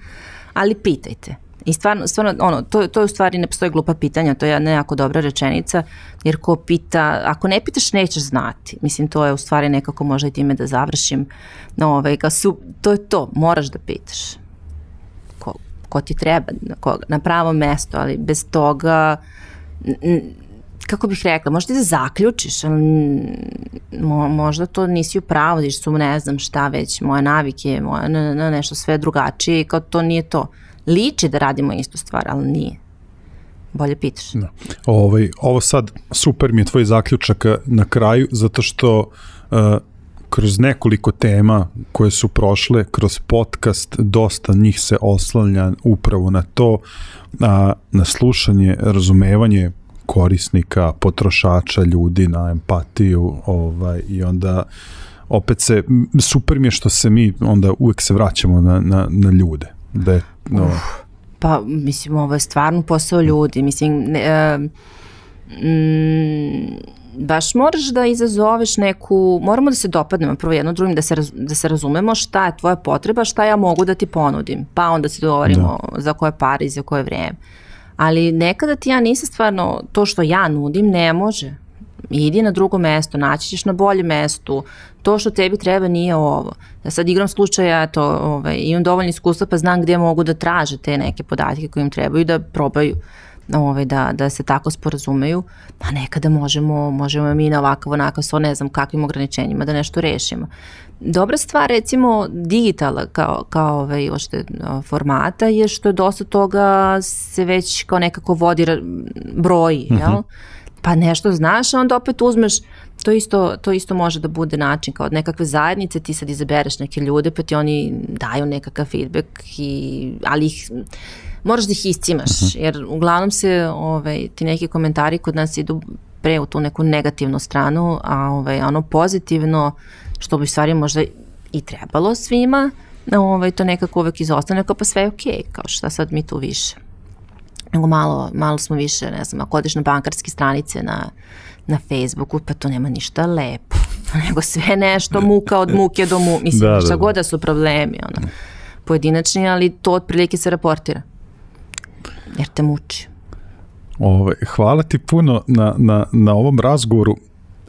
B: ali pitajte. I stvarno, stvarno ono, to, to je u stvari ne postoji glupa pitanja, to je jedna jako dobra rečenica, jer ko pita, ako ne pitaš nećeš znati. Mislim, to je u stvari nekako možda i time da završim. No, ovaj, su, to je to, moraš da pitaš. Ko, ko ti treba, ko, na pravo mesto, ali bez toga, n, kako bih rekla, možda i da zaključiš, ali mo, možda to nisi u pravu, jer su, ne znam šta već, moje navike, moje, na, na nešto sve drugačije i kao to nije to. Liči da radimo istu stvar, ali nije. Bolje pitaš.
A: Da. Ovaj, ovo sad, super mi je tvoj zaključak na kraju, zato što uh, kroz nekoliko tema koje su prošle, kroz podcast, dosta njih se oslanja upravo na to, a, na slušanje, razumevanje korisnika, potrošača, ljudi, na empatiju, ovaj, i onda opet se, super mi je što se mi onda uvek se vraćamo na, na, na ljude. Da je, no.
B: Uf, pa, mislim, ovo je stvarno posao ljudi, mislim, ne, e, mm, baš moraš da izazoveš neku, moramo da se dopadnemo prvo jedno drugim, da se, raz, da se razumemo šta je tvoja potreba, šta ja mogu da ti ponudim, pa onda se dogovorimo da. Za koje pare i za koje vrijeme. Ali nekada ti ja nisam stvarno, to što ja nudim ne može. Idi na drugo mesto, naći ćeš na boljem mestu, to što tebi treba nije ovo. Ja sad igram slučaja, to, ovaj, imam dovoljno iskustva pa znam gdje mogu da traže te neke podatke koje im trebaju da probaju ovaj, da, da se tako sporazumeju, a nekada možemo, možemo mi na ovakav onakav so ne znam kakvim ograničenjima da nešto rešimo. Dobra stvar recimo digitala kao, kao ovaj, ošte, formata je što je dosta toga se već kao nekako vodi broji, mm-hmm. jel? Pa nešto znaš, a onda opet uzmeš, to isto, to isto može da bude način kao od nekakve zajednice, ti sad izabereš neke ljude, pa ti oni daju nekakav feedback, i, ali ih, moraš da ih iscimaš, uh-huh. jer uglavnom se ovaj, ti neki komentari kod nas idu pre u tu neku negativnu stranu, a ovaj, ono pozitivno, što bi stvari možda i trebalo svima, ovaj, to nekako uvek izostane, kao pa sve je okej, okay, kao šta sad mi tu više. Nego malo, malo smo više, ne znam, ako odeš na bankarske stranice na, na Facebooku, pa to nema ništa lepo, nego sve nešto muka od muke do muke, mislim, da, šta da, god da su problemi, ono, pojedinačni, ali to otprilike se raportira, jer te muči.
A: Ove, hvala ti puno na, na, na ovom razgovoru.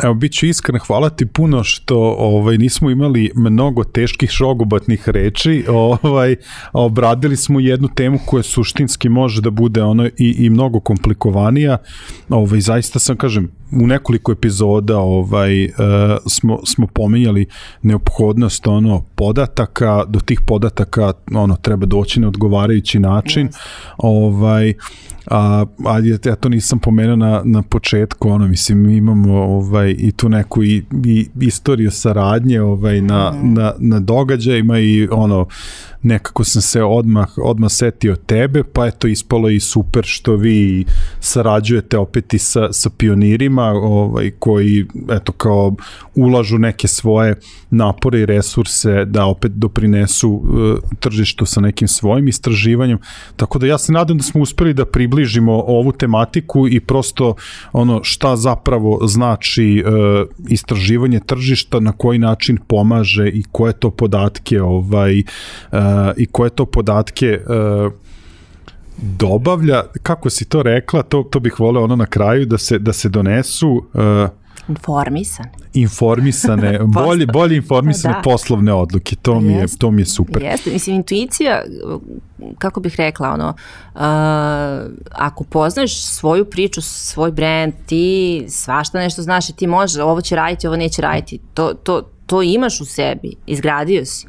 A: Evo, bit ću iskren, hvala ti puno što ovaj, nismo imali mnogo teških šogobatnih reči, ovaj, obradili smo jednu temu koja suštinski može da bude ono i, i mnogo komplikovanija. Ovaj, zaista sam, kažem, u nekoliko epizoda ovaj, uh, smo, smo pomenjali neophodnost ono, podataka, do tih podataka ono, treba doći na odgovarajući način. Yes. Ovaj, a, a ja to nisam pomenuo na, na početku, ono, mislim, mi imamo ovaj, i tu neku i, i istoriju saradnje ovaj, na, mm. na, na događajima i ono, nekako sam se odmah, odmah setio tebe, pa eto ispalo i super što vi sarađujete opet i sa, sa pionirima ovaj, koji eto kao ulažu neke svoje napore i resurse da opet doprinesu uh, tržištu sa nekim svojim istraživanjem, tako da ja se nadam da smo uspeli da približimo ovu tematiku i prosto ono šta zapravo znači uh, istraživanje tržišta, na koji način pomaže i koje to podatke ovaj, uh, i koje to podatke uh, dobavlja, kako si to rekla, to, to bih voleo ono na kraju da se, da se donesu uh,
B: Informisan.
A: Informisane, bolje, bolje informisane da. poslovne odluke, to mi, je, to mi je super.
B: Jeste, mislim, intuicija, kako bih rekla, ono, uh, ako poznaješ svoju priču, svoj brand, ti svašta nešto znaš i ti možeš, ovo će raditi, ovo neće raditi, to, to, to imaš u sebi, izgradio si.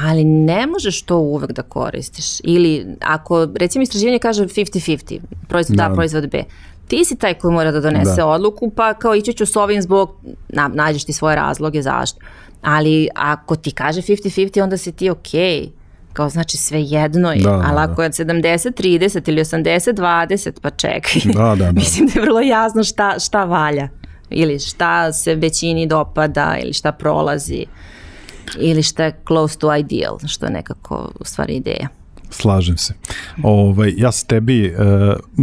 B: Ali ne možeš to uvek da koristiš. Ili ako, recimo, istraživanje kaže fifty fifty, proizvod A, proizvod B, ti si taj koji mora da donese da. odluku, pa kao ići ću s ovim zbog, na, nađeš ti svoje razloge zašto. Ali ako ti kaže fifty fifty, onda si ti okej. Okay. Kao znači sve jedno je, da, ali da, ako je sedamdeset trideset ili osamdeset dvadeset, pa čekaj. Da, da, da. Mislim da je vrlo jasno šta, šta valja. Ili šta se većini dopada, ili šta prolazi. Ili šta je close to ideal, što je nekako u stvari ideja.
A: Slažem se. Ovaj, ja sam tebi e,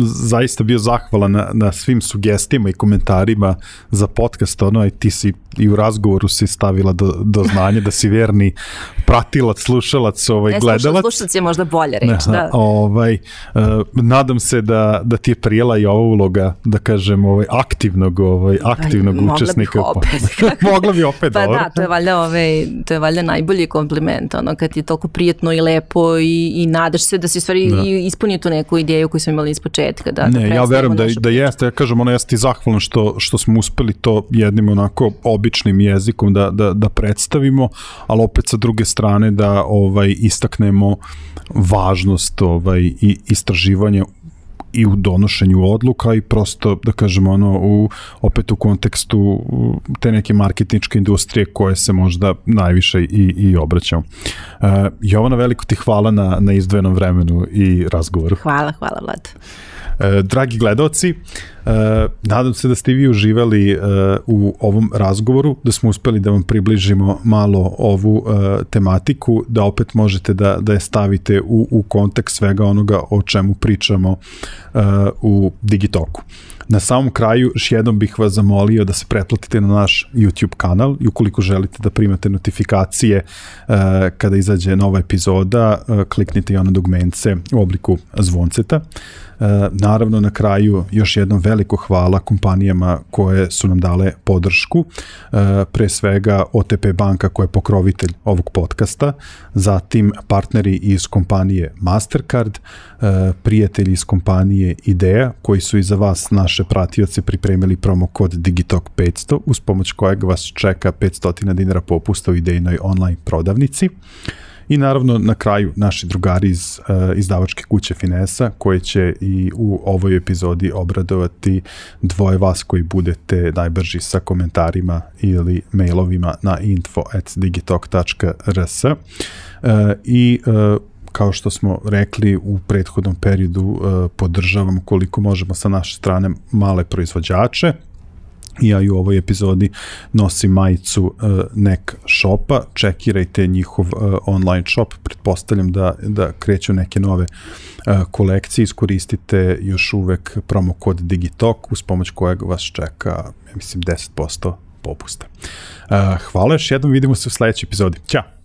A: zaista bio zahvalan na, na svim sugestijama i komentarima za podcast, ono, i ti si i u razgovoru si stavila do, do znanja da si verni pratilac, slušalac, ovaj, ne, gledalac. Ne,
B: slušalac je možda bolje reč, ne, da.
A: Ovaj, e, nadam se da, da ti je prijela i ova uloga, da kažem, ovaj, aktivnog, ovaj, aktivnog pa, učesnika.
B: Mogla bih opet.
A: Mogla bi opet,
B: pa
A: dobro.
B: Da, to je valjda, ovaj, to je valjda najbolji kompliment, ono, kad ti je toliko prijetno i lepo i, i nadaš se da si stvari da. ispunio tu neku ideju koju smo imali iz početka. Da,
A: ne,
B: da
A: ja verujem da, da jeste, ja kažem, ono, ja sam ti zahvalan što, što smo uspeli to jednim onako običnim jezikom da, da, da predstavimo, ali opet sa druge strane da ovaj, istaknemo važnost ovaj, i istraživanja i u donošenju odluka i prosto, da kažemo, ono, u, opet u kontekstu te neke marketinške industrije koje se možda najviše i, i obraćamo. Uh, Jovana, veliko ti hvala na, na izdvojenom vremenu i razgovoru.
B: Hvala, hvala Vlad.
A: Uh, dragi gledaoci, uh, nadam se da ste vi uživali uh, u ovom razgovoru, da smo uspeli da vam približimo malo ovu uh, tematiku, da opet možete da, da je stavite u, u kontekst svega onoga o čemu pričamo uh, u Digitoku. Na samom kraju, još jednom bih vas zamolio da se pretplatite na naš YouTube kanal i ukoliko želite da primate notifikacije uh, kada izađe nova epizoda, uh, kliknite i ono dugmence u obliku zvonceta. Uh, naravno, na kraju još jednom veliko hvala kompanijama koje su nam dale podršku, uh, pre svega O T P banka koja je pokrovitelj ovog podcasta, zatim partneri iz kompanije Mastercard, uh, prijatelji iz kompanije Ideja koji su i za vas, naše pratioce, pripremili promo kod Digitalk petsto uz pomoć kojeg vas čeka petsto dinara popusta u idejnoj online prodavnici. I naravno na kraju naši drugari iz uh, izdavačke kuće Finesa koji će i u ovoj epizodi obradovati dvoje vas koji budete najbrži sa komentarima ili mailovima na info at digitalk tačka r s. Uh, I uh, kao što smo rekli u prethodnom periodu, uh, podržavamo koliko možemo sa naše strane male proizvođače. Ja i u ovoj epizodi nosim majicu uh, Nek shopa, čekirajte njihov uh, online shop, pretpostavljam da, da kreću neke nove uh, kolekcije, iskoristite još uvek promo kod Digitalk uz pomoć kojeg vas čeka, ja mislim, deset posto popusta. Uh, hvala još jednom, vidimo se u sledećoj epizodi. Ćao!